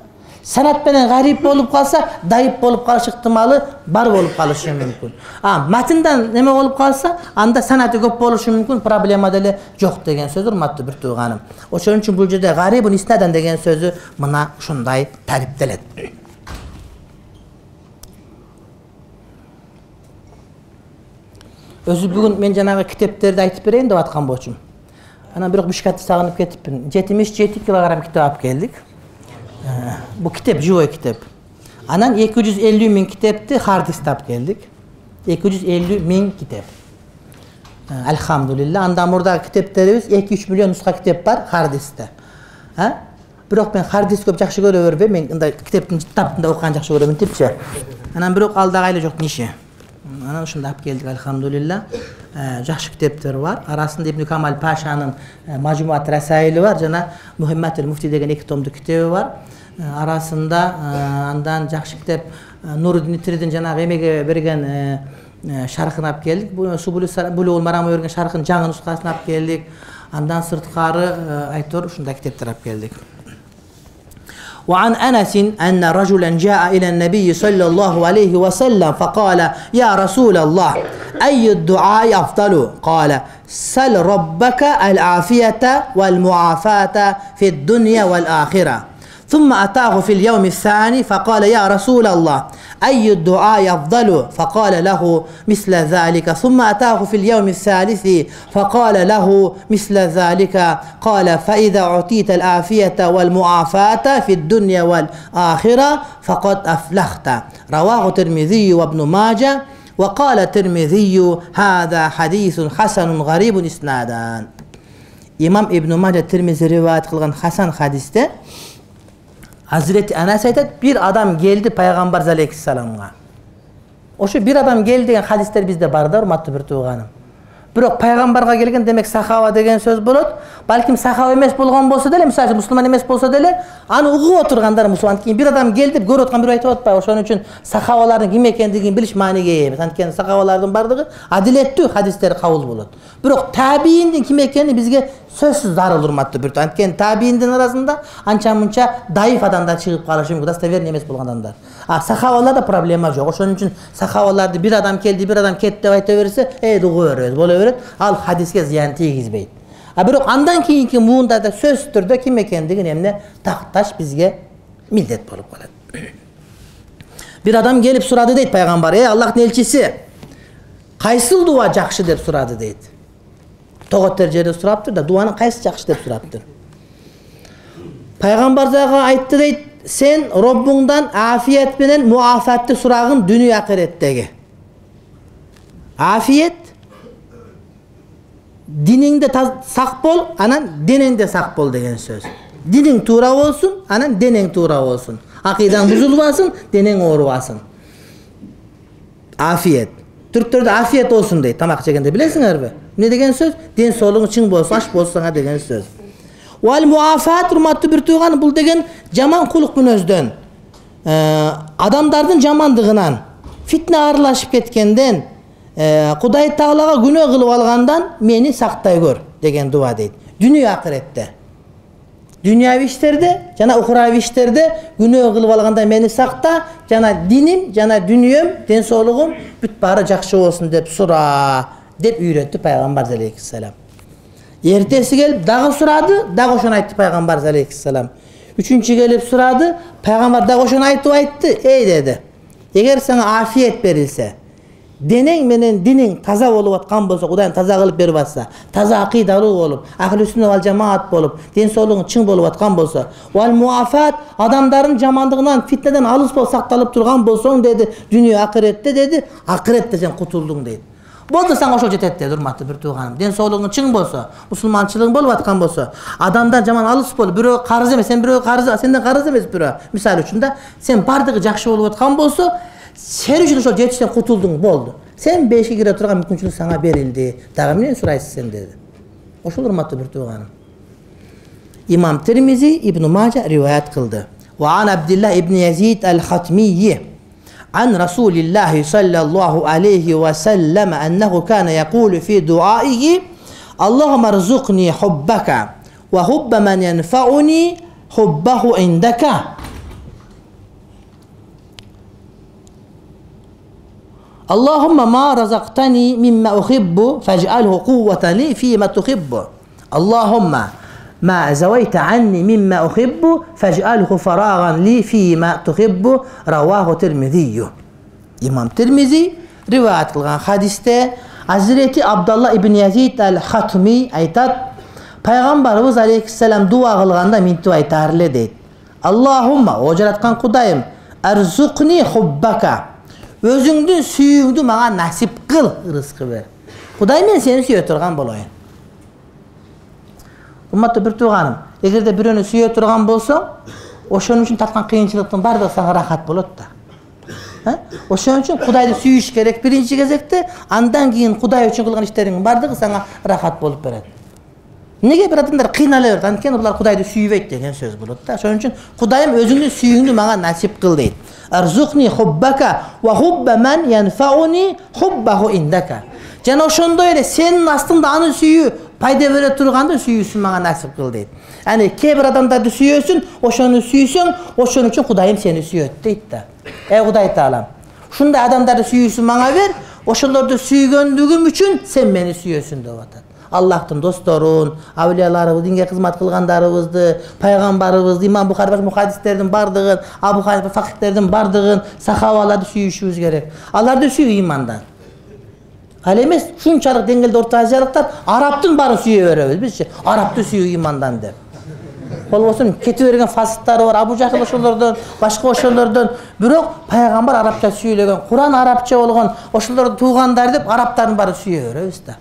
Санат менен гариб болуп калса, даиф болуп калыш ыктымалы бар болуп калышы мүмкүн. А матиндан неме болуп калса, анда санаты көп болушу мүмкүн, проблема деле жок деген сөз, урматтуу бир тууганым. Ошон үчүн бул жерде гарибун иснадан деген сөзү мына ушундай тариптелет. Өзү бүгүн мен жанагы китептерди айтып берейин деп аткан болчумун. Анан бирок Бишкекти сагынып кетипмин. жетимиш жети килограмм китеп алып келдик. Bu kitap, живой kitap. Anan эки жүз элүү миң kitapti harddisk tap keldik. эки жүз элүү миң kitap. Elhamdülillah. Andan burada kitaplarımız эки үч миллион нуска kitap бар harddiskte. Ha? Бирок мен harddisk көп жакшы көрө бербейм. Мен мындай китептин таптында окуган жакшы көрөмүн типчи. Анан бирок алдагы эле жок ниши. Анан ушунда алып келдик, elhamdülillah. Жакшы китептер бар. Арасында Ибн Камал Пашанын Мажмуат Расаили бар, жана Мухаммад Муфти деген эки томдук китеби бар. Арасында андан жакшы китеп Нуруддин Тридин жанагы эмеге берген шархын алып келдик. Бул Субулул Марамга берген шархын жаңы нускасын алып келдик. Андан сырткары айтор ушундай китептер алып келдик. وعن أنس أن رجلا جاء إلى النبي صلى الله عليه وسلم فقال يا رسول الله أي الدعاء أفضل؟ قال سل ربك العافية والمعافاة في الدنيا والآخرة. ثم أتاه في اليوم الثاني فقال يا رسول الله أي الدعاء أفضل؟ فقال له مثل ذلك. ثم أتاه في اليوم الثالث فقال له مثل ذلك. قال فإذا أعطيت العافية والمعافاة في الدنيا والآخرة فقد أفلحت. رواه الترمذي وابن ماجه وقال الترمذي هذا حديث حسن غريب إسنادا. İmam İbn Mace Tirmizi rivayet kılgan Hasan hadiste Hazreti Anas aytат, bir adam geldi Peygamber aleyhisselam'a. Oşu bir adam geldi деген hadisler bizde бар да, урматтуу бир тууганым. Бирок пайгамбарга келген демек сахаба деген сөз болот. Балким сахаба эмес болгон болсо деле, мисалы мусулман эмес болсо деле, аны угуп отургандар мусулман. Кийин бир адам келди, көрүп аткан бирөө айтып атпайбы? Ошон үчүн сахабалардын ким экендигин билиш мааниге ээ эмес. Анткени сахабалардын бардыгы адилеттүү хадистер кабыл болот. Бирок табииндин ким экени бизге сөзсүз зарыл, урматтуу бир тууганым. Анткени табииндин арасында анча-мунча даиф адамдар чыгып калышы мүмкүн, достоверный эмес болгон адамдар. А сахабаларда проблема жок. Ошон үчүн сахабаларды bir адам келди, bir адам кетти деп айта берсе, э угуп беребиз, боло берет. Ал хадиске зыян тийгизбейт. А бирок андан кийинки муунда сөзсүз түрдө ким экендигин эмне такташ бизге милдет болуп калат. Bir адам келип сурады дейт пайгамбар, э Аллахтын элчиси, кайсыл дуа жакшы деп сурады дейт. Тоготтер жерде сураптыр да, дуанын кайсы жакшы деп сураптыр. Пайгамбар дагы айтты дейт, sen Robbuңдан afiyet менен muafatты сурагын дүнү акыреттеги. Afiyet diningde sak bol, anan denengde sak bol деген söz. Dining tuura bolsun, anan deneng tuura bolsun. Akidan buzulbasın, deneng oorubasın. Afiyet. Türkçede afiyet olsun deydi. Tamak çekende bilesiңерби? Ne degen söz? Den soğluğun çiң bolsun, aç bolsun sana degen söz. Wal muafat urmatlı bir tuğan bul degen jaman kuluk münözden. Ee, adamdardın jamandığınan, fitne arılaşıp ketkenden, e, Kuday Tağlaga günah kılıp algandan meni saktay gör degen dua deydi. Dünya ahirette. Dünyavi işlerde, jana uhravi işlerde günah kılıp alganda meni sakta, jana dinim, jana dünyam, den soğluğum büt bari jakşı olsun dep sura dep üyretti Peygamber aleyhisselam. Ertesi gelip dağı suradı, dağı oşun ayttı Peygamber aleyhisselam. Üçüncü gelip suradı, Peygamber dağı oşun ayttı ayttı, ey dedi. Eğer sana afiyet verilse, денең менен диниң таза болуп аткан болсо, Кудайым таза кылып берип атса, таза акыйдалуу болуп, ахли сүннат вал жамаат болуп, ден соолугуң чың болуп аткан болсо, вал муафат, адамдардын жамандыгынан, фитнеден алыс болуп сакталып турган болсоң деди, дүйнө акыретте деди, акыретте сен кутулдуң дейт. Болду сага ошол жетет деди, урматтуу бир тууганым. Ден соолугуң чың болсо, мусулманчылыгың болуп аткан болсо, адамдан жаман алыс болуп, бирөө карыз эмес, сен бирөө карыз, сенден карыз эмес бирөө. Мисалы үчүн да, сен бардыгы жакшы болуп аткан болсо, сен үчүн ошол жетиштен кутулдуң, болду. Сен бешикке кире турган мүмкүнчүлүк сага берилди. Дагы эмне сурайсыз сен деди. Ошол урматтуу бир тууганым. Имам Тирмизи Ибн Мажа риваят кылды. Ва ан Абдулла ибн Язид аль-Хатмийи عن رسول الله صلى الله عليه وسلم أنه كان يقول في دعائه اللهم ارزقني حبك وحب من ينفعني حبه عندك اللهم ما رزقتني مما أحب فاجعله قوة لي فيما تحب اللهم ما زويت عني مما أحب فاجعله فراغا لي فيما تحب رواه الترمذي. İmam Tirmizi rivayet kılgan hadiste Hazreti Abdullah ibn Yazid al-Hatmi aytat, Peygamberimiz aleyhisselam dua kılganda mintu aytarlı deyt. Allahumma, o jaratkan Kudayım, erzukni hubbaka. Özüңdүн sүйүүңдү мага насип кыл, рызкы бер. Кудай мен сени сүйө турган болоюн. Урматтуу бир тууганым, эгерде бирөөнү сүйө турган болсоң, ошон үчүн таткан кыйынчылыктын бардыгы сага рахат болот да. Ошон үчүн Кудайды сүйүш керек биринчи кезекте, андан кийин Кудай үчүн кылган иштериңдин бардыгы сага рахат болуп берет. Неге бир адамдар кыйнала берет? Анткени булар Кудайды сүйбөйт деген сөз болот да. Ошон үчүн Кудайым өзүңдүн сүйүүңдү мага насип кыл дейт. Арзукни хуббака ва хубба ман янфауни хуббаху индака. Жана ошондой эле сенин астыңда аны сүйүү пайда бере турганды сүйүүсүн мага насип кыл дейт. Аны кээ бир адамдарды сүйөсүн, ошону сүйсөң, ошон үчүн Кудайым сени сүйөт дейт да. Эй Кудай Таалам, ушундай адамдарды сүйүүсүн мага бер, ошолорду сүйгөндүгүм үчүн сен мени сүйөсүн деп атат. Аллахтын досторун, авлияларыбыз, динге кызмат кылгандарыбызды, пайгамбарыбызды, Имам Бухари башка мухаддистердин бардыгын, Абу Ханифа факихтердин бардыгын, сахабаларды сүйүшүбүз керек. Аларды сүйүү имандан. Ал эмес ушунчалык деңгээлде Орто Азиялыктар арабтын баарын сүйө беребиз бизчи. Арабты сүйүү имандан деп. Болбосун кетип берген фасыктары бар, Абу Жахил ошолордон, башка ошолордон, бирок пайгамбар арабча сүйлөгөн, Куран арабча болгон, ошолордун туугандары деп арабтардын баарын сүйө беребиз да.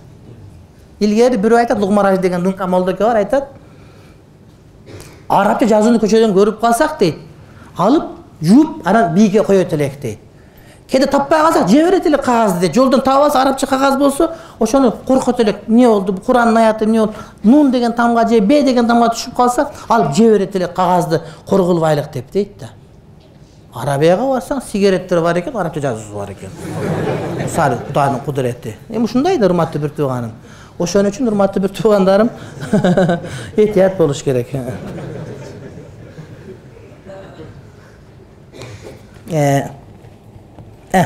Илгери бирөө айтат, Лугмараж деген дыңка молдоке бар, айтат, арабча жазууну көчөдөн көрүп калсак дейт, алып, жууп, анан бийге коёт элек дейт. Кээде таппай калсак, жеберет элек кагазды дейт. Жолдон таап алса, арабча кагаз болсо, ошону коркот элек. Эмне болду? Куранын аяты эмне болду? Нун деген тамга же Б деген тамга түшүп калса, алып жеберет элек кагазды коргулбайлык деп дейт да. Арабияга барсаң, сигареттер бар экен, арабча жазуусу бар экен. Мисалы, Кудайдын кудурети. Эми ушундай да, урматтуу бир тууганым. Ошон үчүн урматтуу бир туугандарым, этият болуш керек. Э Э.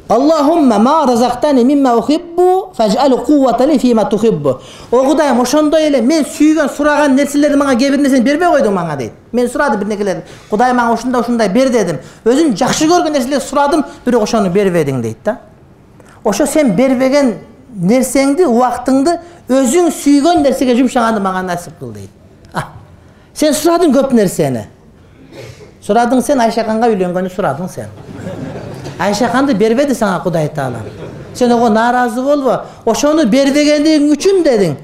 Allahumma ma razaqtani mimma uhibbu faj'al quwwatan li fima tuhibbu. O Kudayım ошондой эле мен сүйгөн сураган нерселерди мага кээ бир нерсени бербей койдуң мага дейт. Мен сурадым бир нерселерди. Кудай мага ушундай ушундай бер дедим. Өзүң жакшы көргөн нерселерди сурадым, бирок ошону бербедиң дейт да. Ошо сен бербеген нерсеңди, убактыңды өзүң сүйгөн нерсеге жумшаганды мага насип кыл дейт. А. Сен сурадың көп нерсени. Сурадың сен Айшаканга үйлөнгөнү сурадың сен. Айшаканды бербеди сага Кудай Таалам. Сен ого нааразы болбо. Ошону бербегендигиң үчүн дедиң.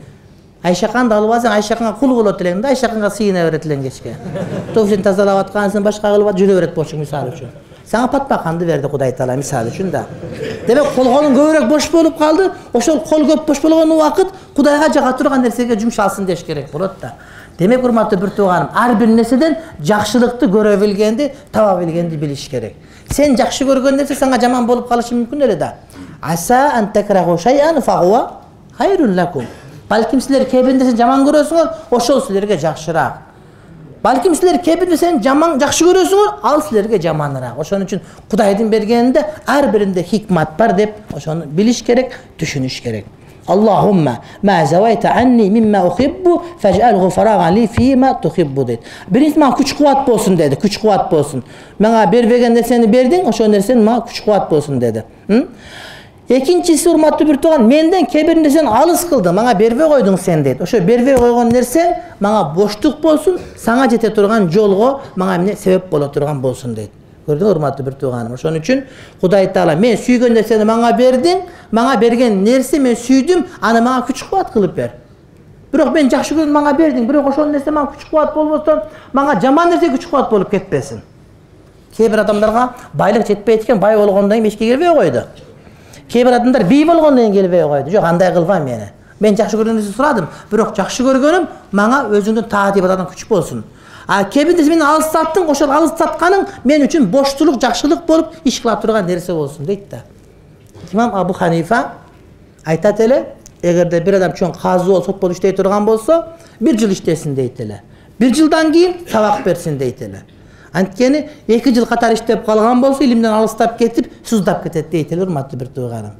Айшаканды алып алсаң, Айшаканга кул болот элең да, Айшаканга сыйына берет элең кечке. Тофсен тазалап аткансың, башка кылып жүрө берет болчу мисалы үчүн. Сага патпаканды берди Кудай Таалам мисалы үчүн да. Демек колгонуң көбүрөөк бош болуп калды. Ошол кол көп бош болгон убакыт Кудайга жага турган нерсеге жумшалсын деш керек болот да. Демек урматтуу бир тууганым, ар бир нерседен жакшылыкты көрө билгенди, таба билгенди билиш керек. Сен жакшы көргөн нерсе сага жаман болуп калышы мүмкүн эле да. Аса ан такраху шай'ан фагуа хайрун лакум. Балким силер кээ бир нерсени жаман көрөсүңөр, ошол силерге жакшыраак. Балким силер кээ бир нерсени жаман жакшы көрөсүңөр, ал силерге жаманыраак. Ошон үчүн Кудайдын бергенинде ар биринде хикмат бар деп ошону билиш керек, түшүнүш керек. Allahumma ma zawayta anni mimma uhibbu faj'alhu faragan li fima tuhibbu deydi. Birinchi manga kuch кубат болсун dedi. Kuch кубат болсун. Мага бербеген нерсени бердиң, ошол нерсен мага kuch кубат болсун dedi. Экинчиси, урматтуу бир тууган, менден кээ бир нерсени алыс кылдың, мага бербей койдуң сен дейт. Ошо бербей койгон нерсең мага боштук болсун, сага жете турган жолго мага эмне себеп боло турган болсун дейт. Көрдүңүз, урматтуу бир тууганым. Ошон үчүн Кудай Таала мен сүйгөн нерсени мага бердиң, мага берген нерсе мен сүйдүм, аны мага күч кубат кылып бер. Бирок мен жакшы көргөн мага бердиң, бирок ошол нерсе мага күч кубат болбостон, мага жаман нерсе күч кубат болуп кетпесин. Кээ бир адамдарга байлык жетпейт экен, бай болгондон кийин эчке келбей койду. Кээ бир адамдар бий болгондон кийин келбей койду. Жок, андай кылба мени. Мен жакшы көргөн нерсе сурадым, бирок жакшы көргөнүм мага өзүңдүн таат ибадатың күч болсун. А кээ бир нерсе мени алыстаттың, ошол алыстатканың мен үчүн боштулук, жакшылык болуп иш кыла турган нерсе болсун дейт да. Имам Абу Ханифа айтат эле, эгерде бир адам чоң казы болуп, сот болуп иштей турган болсо, бир жыл иштесин дейт эле. Бир жылдан кийин сабак берсин дейт эле. Анткени эки жыл катар иштеп калган болсо, илимден алыстап кетип, суздап кетет дейт эле, урматтуу бир тууганым.